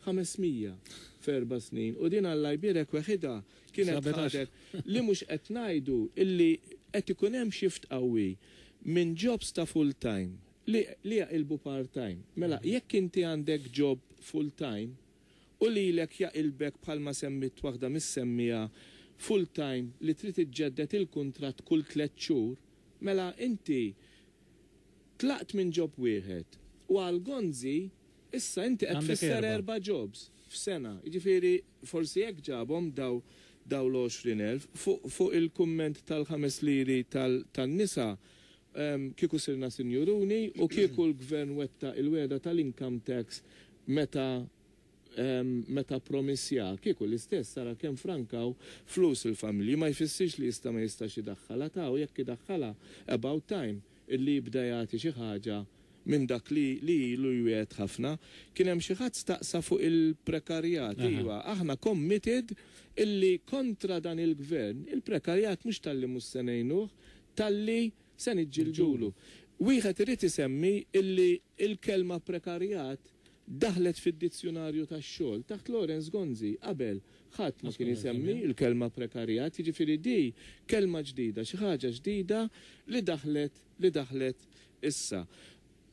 500 f'erba' snin. U din Alla jbierek weħidha kienet ħadet li mhux qed ngħidu illi qed ikun hemm shift qawwi minn jobs ta' full time li li jaqilbu part time. Mela jekk inti għandek job full time u lilek jaqilbek bħalma semmiet waħda mis-semmiegħa full time li trid iġġedded il-kuntratt kull tlett xhur, mela inti tlaqt minn job wieħed u għal Gonzi issa inti qed tfisser erba' jobs f'sena. Jiġifieri forsi hekk ġabhom daw daw l-20,000. Fuq fuq il-kumment tal-ħames liri tan-nisa, kieku sirna sinjuruni u kieku l-Gvern wettaq il-wegħda tal-income tax meta meta ppromissja, kieku l-istess ara kemm frankaw flus il-familji. Ma jfissirx li jista' ma jistax idaħħalha ta' u jekk idaħħalha about time illi jibda jagħti xi ħaġa minn dak li li ilu jwiegħed ħafna. Kien hemm xi ħadd staqsa fuq il-prekarjat. Iva, aħna committed illi kontra dan il-Gvern, il-prekarjat mhux talli mhux se ngħinuh, talli se niġġildulu. Wieħed irid isemmi illi l-kelma prekarjat daħlet fid-dizzjunarju tax-xogħol taħt Lawrence Gonzi. Qabel, ħadd ma kien isemmi l-kelma prekarjat, jiġifieri di kelma ġdida, xi ħaġa ġdida li daħlet li daħlet issa.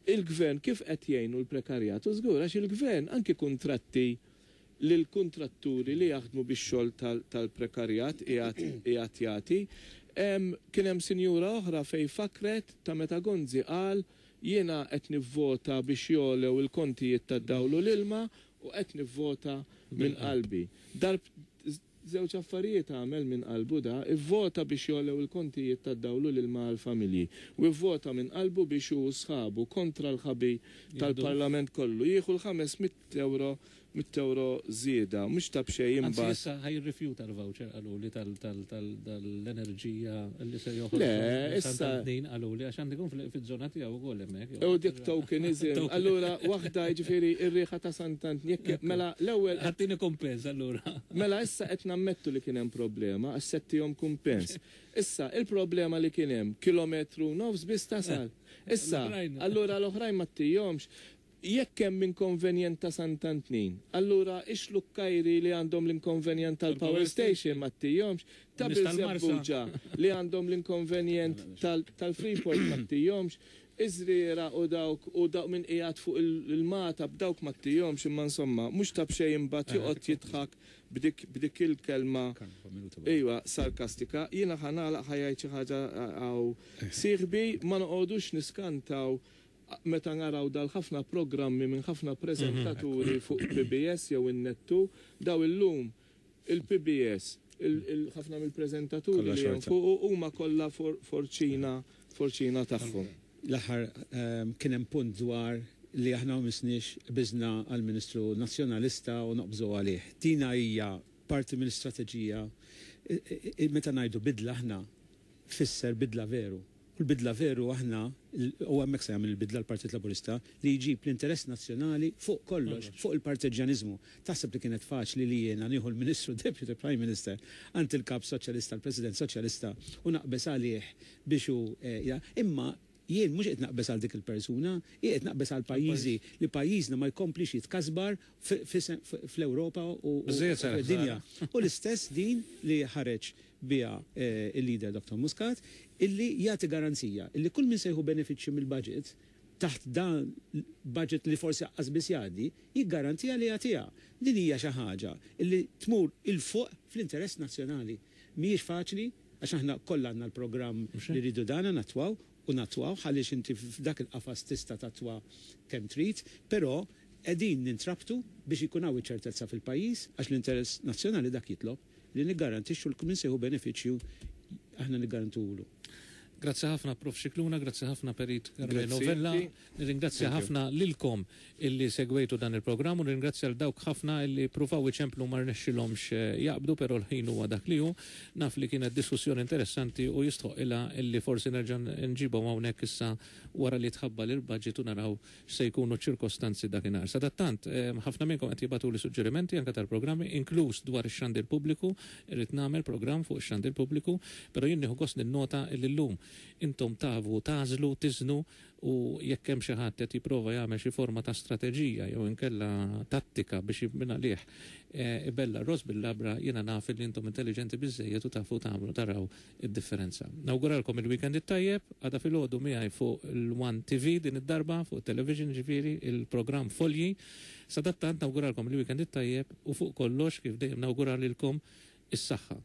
Il-Gvern kif qed jgħinu l-prekarjat? U żgur għax il-Gvern anki kuntratti lill-kuntratturi li jaħdmu bix-xogħol tal-prekarjat qiegħed qiegħed jagħti. Kien hemm sinjura oħra fejn fakkret ta' meta Gonzi qal jiena qed nivvota biex jogħlew il-kontijiet tad-dawl u l-ilma u qed nivvota minn qalbi. Darb Żewġ affarijiet għamel minn qalbu da, ivvota biex jogħlew il-kontijiet tad-dawl u l-ilma għall-familji, u ivvota minn qalbu biex hu u sħabu, kontra l-ħabi tal-Parlament kollu, jieħu l-500 ewro mitt ewro żieda. Mhux ta' b'xejn Anzi imbagħad. issa ħa jirrifjuta l-voucher qaluli tal-enerġija li se joħorġu Le, minn issa. Sant'Antnin qaluli għax għandu jkun fiż-żona tiegħu wkoll hemmhekk. U dik tokenism. Allura waħda jiġifieri r-riħa ta' Sant'Antnin jekk mela l-ewwel. Ħattini kumpens allura. Mela issa qed nammettu li kien hemm problema għax se ttihom kumpens. Issa, il-problema li kien hemm, kilometru u nofs biss tasal. Issa, allura l-oħrajn ma ttihomx. Jekk hemm inkonvenjent ta' Sant'Antnin, allura ix-Xlukkajri li għandhom l-inkonvenjent tal-power station ma ttihomx, ta' Birżebbuġa li għandhom l-inkonvenjent tal-Freeport ma ttihomx, iż-Żrieraq u dawk u dawk min qiegħed fuq il-Magħtab dawk ma ttihomx, imma insomma, mhux ta' b'xejn imbagħad joqgħod jidħak b'dik b'dik il-kelma ejwa sarkastika. Jiena ħa nagħlaq ħa jgħid xi ħaġa hawn sieħbi, ma noqogħdux niskantaw Meta naraw dal-ħafna programmi minn ħafna preżentaturi fuq PBS jew in-Net 2, daw illum il-PBS, ħafna mill-preżentaturi li hemm fuqu huma kollha forċina forċina tagħhom. L-aħħar kien hemm punt dwar li aħna ma missniex qbiżna għall-Ministru Nazzjonalista u noqbżu għalih. Dina hija parti mill-istrateġija meta ngħidu bidla aħna tfisser bidla veru. U l-bidla veru aħna, u hemmhekk se jagħmel il-bidla l-Partit Laburista, li jġib l-interess nazzjonali fuq kollox, fuq il-parteġġjaniżmu. Taħseb li kienet faċli li jiena nieħu l-Ministru Deputy Prime Minister għand il-Kap Soċjalista, l-President Soċjalista u naqbeż għalih biex hu Imma jien mhux qed naqbeż għal dik il-persuna, jien qed naqbeż għal pajjiżi li pajjiżna ma jkomplix jitkasbar fl-Ewropa u fid-dinja. U l-istess din li ħareġ biha l-leader Dottor Muscat illi jagħti garanzija illi kull min se jieħu benefiċċju mill-budget taħt dan budget li forsi aqqas biss jgħaddi, jiggarantiha li jagħtiha. Din hija xi ħaġa illi tmur 'il fuq fl-interess nazzjonali. Mhijiex faċli għax aħna kollha għandna l-programm li rridu dana nattwaw u nattwawh għaliex inti f'dak il-qafas tista' tattwa kemm trid, però qegħdin nintrabtu biex ikun hawn iċ-ċertezza fil-pajjiż għax l-interess nazzjonali dak jitlob. Li niggarantixxu li kull min se jieħu benefiċċju aħna niggarantuhulu. Grazzi ħafna Prof Scicluna, grazzi ħafna Perit Carmelo Vella. Nirringrazzja ħafna lilkom illi segwejtu dan il-programm u nirringrazzja 'l dawk ħafna illi ppruvaw iċemplu ma rnexxilhomx jaqbdu però l-ħin huwa dak li hu. Naf li kienet diskussjoni interessanti u jistħoqqilha illi forsi nerġa' nġibhom hawnhekk issa wara li tħabbar il-budget u naraw x'se jkunu ċ-ċirkostanzi dakinhar. Sadattant, ħafna minnkom qed jibagħtuli suġġerimenti anke tal-programmi, inkluż dwar ix-xandir pubbliku. Irrid nagħmel programm fuq ix-xandir pubbliku, però jien nieħu gost ninnota li llum Intom tafu tagħżlu, tiżnu u jekk hemm xi ħadd qed jipprova jagħmel xi forma ta' strateġija jew inkella tattika biex mingħalih ibella' r-ross bil-labra, jiena naf li intom intelliġenti biżżejjed u tafu tagħmlu taraw id-differenza. Nawguralkom il-weekend it-tajjeb, għada filgħodu miegħi fuq l-One TV din id-darba, fuq it-television jiġifieri, il-programm Folji. Sadattant nawguralkom il-weekend it-tajjeb u fuq kollox kif dejjem nawgura lilkom is-saħħa.